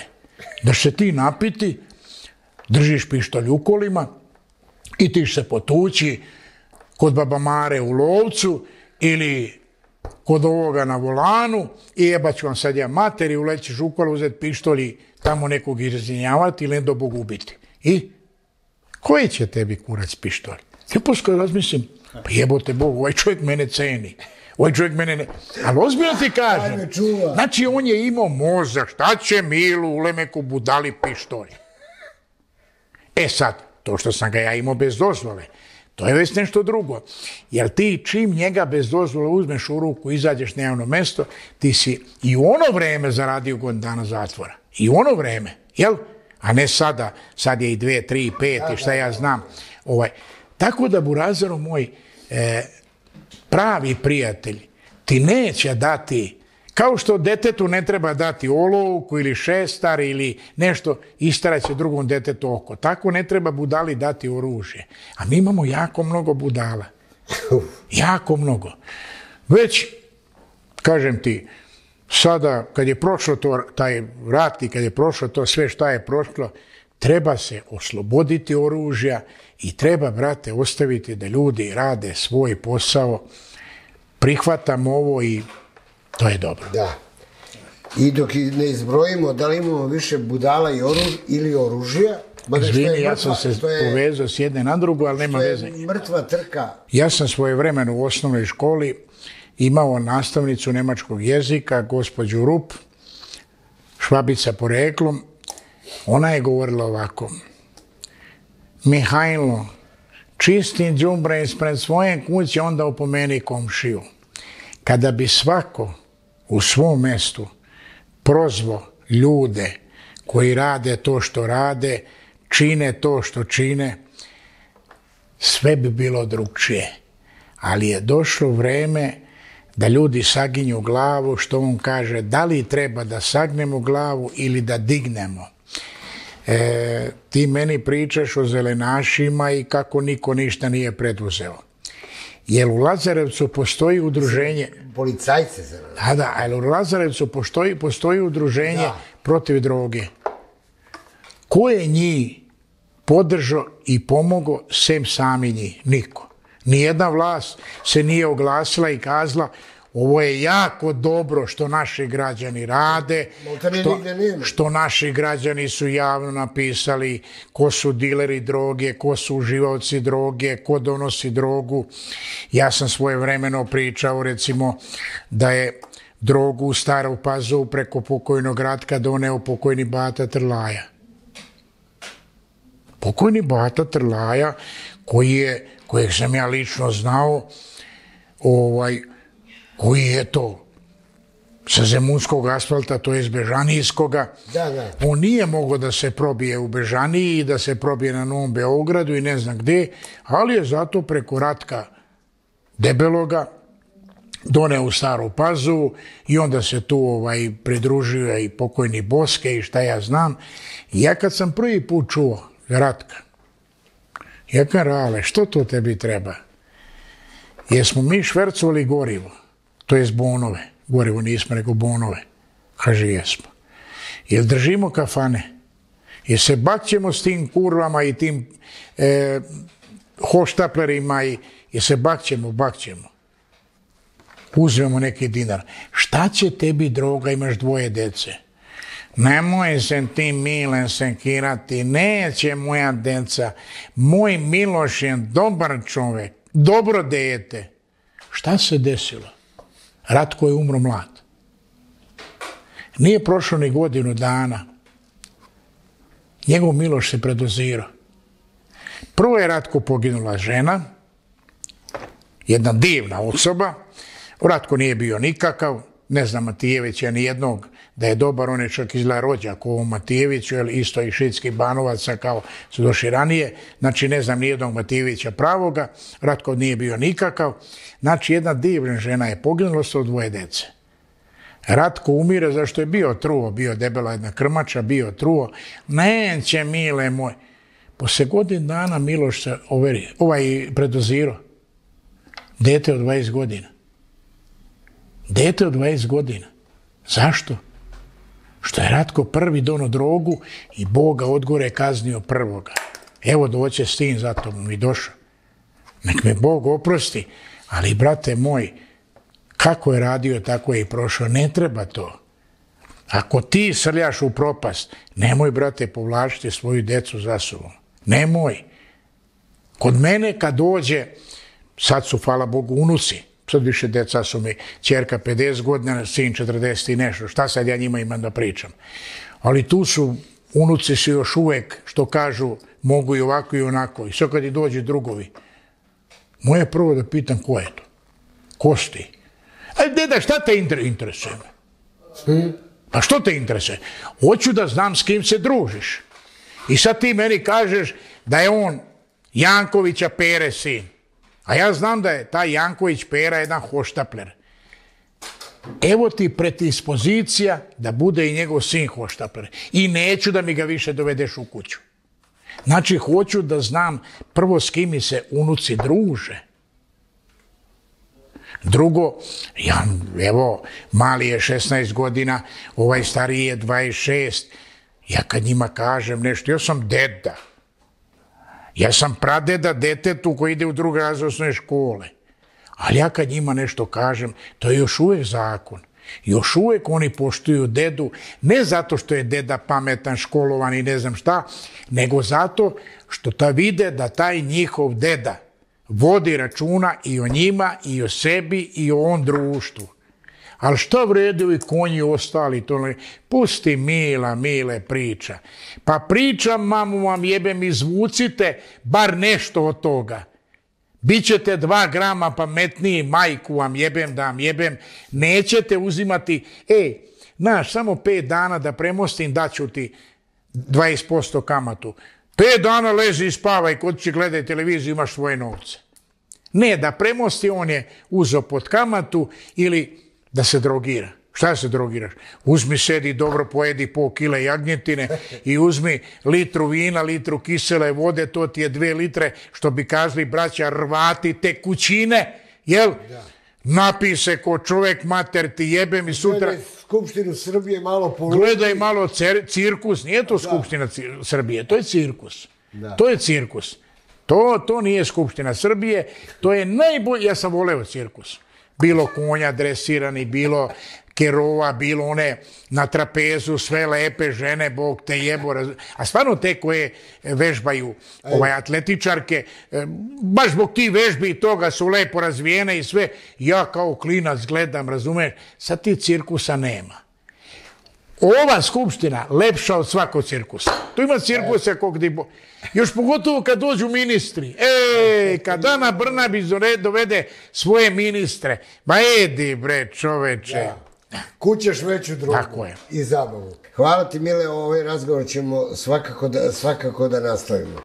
S2: da se ti napiti, držiš pištolj u kolima, i ti se potući kod baba Mare u Lovcu ili kod ovoga na volanu i jebat ću vam sad ja materi, ulećeš u kola, uzeti pištolj i tamo nekog izrinjavati ili do Bog ubiti. I koji će tebi kurac pištolj? Ja poskoj razmislim, pa jebote Bog, ovaj čovjek mene ceni. Ovaj čovjek mene ne... Ali ozbiljno ti kažem. Znači on je imao mozak, šta će Milu Ulemeku budali pištolj? E sad, to što sam ga ja imao bez dozvole, to je već nešto drugo. Jer ti čim njega bez dozvole uzmeš u ruku, izađeš na javno mesto, ti si i u ono vreme zaradio godinu dana zatvora. I u ono vreme, jel? A ne sada, sad je i dve, tri, pet i šta ja znam. Ovaj. Tako da, Burazaro moj, e, pravi prijatelj ti neće dati Kao što detetu ne treba dati olovku ili šestar ili nešto, istarat će drugom detetu oko. Tako ne treba budali dati oružje. A mi imamo jako mnogo budala. Jako mnogo. Već, kažem ti, sada kad je prošlo to, taj rat i kad je prošlo to sve šta je prošlo, treba se osloboditi oružja i treba, brate, ostaviti da ljudi rade svoj posao. Prihvatam ovo i to je dobro.
S1: Da. I dok ne izbrojimo da li imamo više budala i oruž, ili oružja...
S2: Izvini, ja sam se povezao s jedne na drugu, ali nema veze.
S1: Mrtva trka.
S2: Ja sam svojevremeno u osnovnoj školi imao nastavnicu nemačkog jezika, gospođu Rup, Švabica poreklom. Ona je govorila ovako: Mihajlo, čisti đubre ispred svoje kuće, onda opomeni komšiju. Kada bi svako u svom mjestu prozvao ljude koji rade to što rade, čine to što čine, sve bi bilo drugčije. Ali je došlo vreme da ljudi saginju glavu, što on kaže, da li treba da sagnemo glavu ili da dignemo. E, ti meni pričaš o zelenašima i kako niko ništa nije preduzeo. Jer u Lazarevcu postoji udruženje...
S1: Policajce se...
S2: Da, da, ali u Lazarevcu postoji, postoji udruženje da. protiv droge. Ko je njih podržao i pomogao, sem sami njih? Niko. Nijedna vlast se nije oglasila i kazala ovo je jako dobro što naši građani rade, što, što naši građani su javno napisali ko su dileri droge, ko su uživaoci droge, ko donosi drogu. Ja sam svojevremeno pričao, recimo, da je drogu u Staru Pazovu preko pokojnog Ratka doneo pokojni Bata Trlaja. Pokojni Bata Trlaja, koji je, kojeg sam ja lično znao, ovaj, koji je to sa zemunskog asfalta, to je iz Bežanijskoga.
S1: Da, da.
S2: On nije mogao da se probije u Bežaniji i da se probije na Novom Beogradu i ne znam gde, ali je zato preko Ratka Debeloga doneo u Staru Pazovu i onda se tu ovaj, pridružio i pokojni Boske i šta ja znam. I ja kad sam prvi put čuo Ratka, ja kažem, Rale, što to tebi treba? Jer smo mi švercovali gorivo, to jest bonove. Gorivo nismo, nego bonove. Kaže, jesmo. Jel držimo kafane? Jel se bakćemo s tim kurvama i tim e, hoštaplerima i jel se bakćemo? Bakćemo. Uzmemo neki dinar. Šta će tebi droga, imaš dvoje dece? Nemoj se ti Milen senkirati, neće moja deca. Moj Miloš je dobar čovjek, dobro dete. Šta se desilo? Ratko je umro mlad. Nije prošlo ni godinu dana. Njegov Miloš se predozirao. Prvo je Ratko poginula žena, jedna divna osoba. Ratko nije bio nikakav, ne znam Matijevića ni jednog da je dobar, on je čak izgleda rođak ovom Matijeviću, jer isto i šitskih Banovaca kao su došli ranije, znači ne znam ni jednog Matijevića pravoga, Ratko nije bio nikakav, znači jedna divna žena je poginula sa dvoje dece. Ratko umire zašto je bio truo, bio debela jedna krmača, bio truo, neće mile moj. Posle godin dana Miloš se overi, ovaj predozirao, dete od dvadeset godina. Dete od dvadeset godina. Zašto? Što je Ratko prvi dono drogu i Bog ga odgore kaznio prvoga. Evo doće s tim, zato mu mi došao. Nek me Bog oprosti, ali brate moj, kako je radio, tako je i prošao. Ne treba to. Ako ti srljaš u propast, nemoj, brate, povlačiti svoju decu za sobom. Nemoj. Kod mene kad dođe, sad su, hvala Bogu, unuci, sad više deca su mi, ćerka pedeset godina, sin četrdeset i nešto, šta sad ja njima imam da pričam. Ali tu su, unuci su još uvek, što kažu, mogu i ovako i onako. I sve kad i dođe drugovi, moje prvo da pitam ko je to? Ko si ti? Aj, deda, šta te interesuje? Hmm? Pa što te interesuje? Hoću da znam s kim se družiš. I sad ti meni kažeš da je on Jankovića Pere sin. A ja znam da je taj Janković Pera jedan hoštapler. evo ti predispozicija da bude i njegov sin hoštapler. I neću da mi ga više dovedeš u kuću. Znači, hoću da znam prvo s kim mi se unuci druže. Drugo, ja, evo, mali je šesnaest godina, ovaj stariji je dvadeset šest. Ja kad njima kažem nešto, ja sam deda. Ja sam pradeda detetu koji ide u drugi razred osnovne škole. Ali ja kad njima nešto kažem, to je još uvijek zakon. Još uvijek oni poštuju dedu, ne zato što je deda pametan, školovan i ne znam šta, nego zato što ta vide da taj njihov deda vodi računa i o njima, i o sebi, i o on društvu. Ali šta vredu i konji ostali, to ne... Pusti mila, mile priča. Pa pričam, mamu vam jebem, izvucite bar nešto od toga. Bićete dva grama pametniji, majku vam jebem da vam jebem, nećete uzimati, e, znaš, samo pet dana da premostim, daću ti dvadeset posto kamatu. Pet dana lezi i spavaj, kod će gledaj televiziju, imaš svoje novce. Ne, da premosti, on je uzeo pod kamatu ili da se drogira. Šta se drogiraš? Uzmi, sedi, dobro pojedi pol kile jagnjetine i uzmi litru vina, litru kisele vode, to ti je dve litre, što bi kazali braća Hrvati, tekućine, jel? Da. Napij se ko čovjek, mater ti jebem i sutra...
S1: Gledaj Skupštinu Srbije malo poluči.
S2: Gledaj malo cirkus, nije to Skupština Srbije, to je cirkus. Da. To je cirkus. To, to nije Skupština Srbije, to je najbolje, ja sam voleo cirkus. Bilo konja dresirani, bilo kerova, bilo one na trapezu, sve lepe žene, Bog te jebo. A stvarno te koje vežbaju ovaj, atletičarke, baš zbog ti vežbi i toga su lepo razvijene i sve. Ja kao klinac gledam, razumeš, sad ti cirkusa nema. Ova skupština lepša od svakog cirkusa. Tu ima cirkusa kog di bo... Još pogotovo kad dođu ministri. E, kad Ana Brnabić dovede svoje ministre. Ma edi bre čoveče.
S1: Da. Kućeš veću drugu.
S2: Tako je.
S1: I zabavu. Hvala ti, Mile, ovaj razgovor ćemo svakako da, svakako da nastavimo.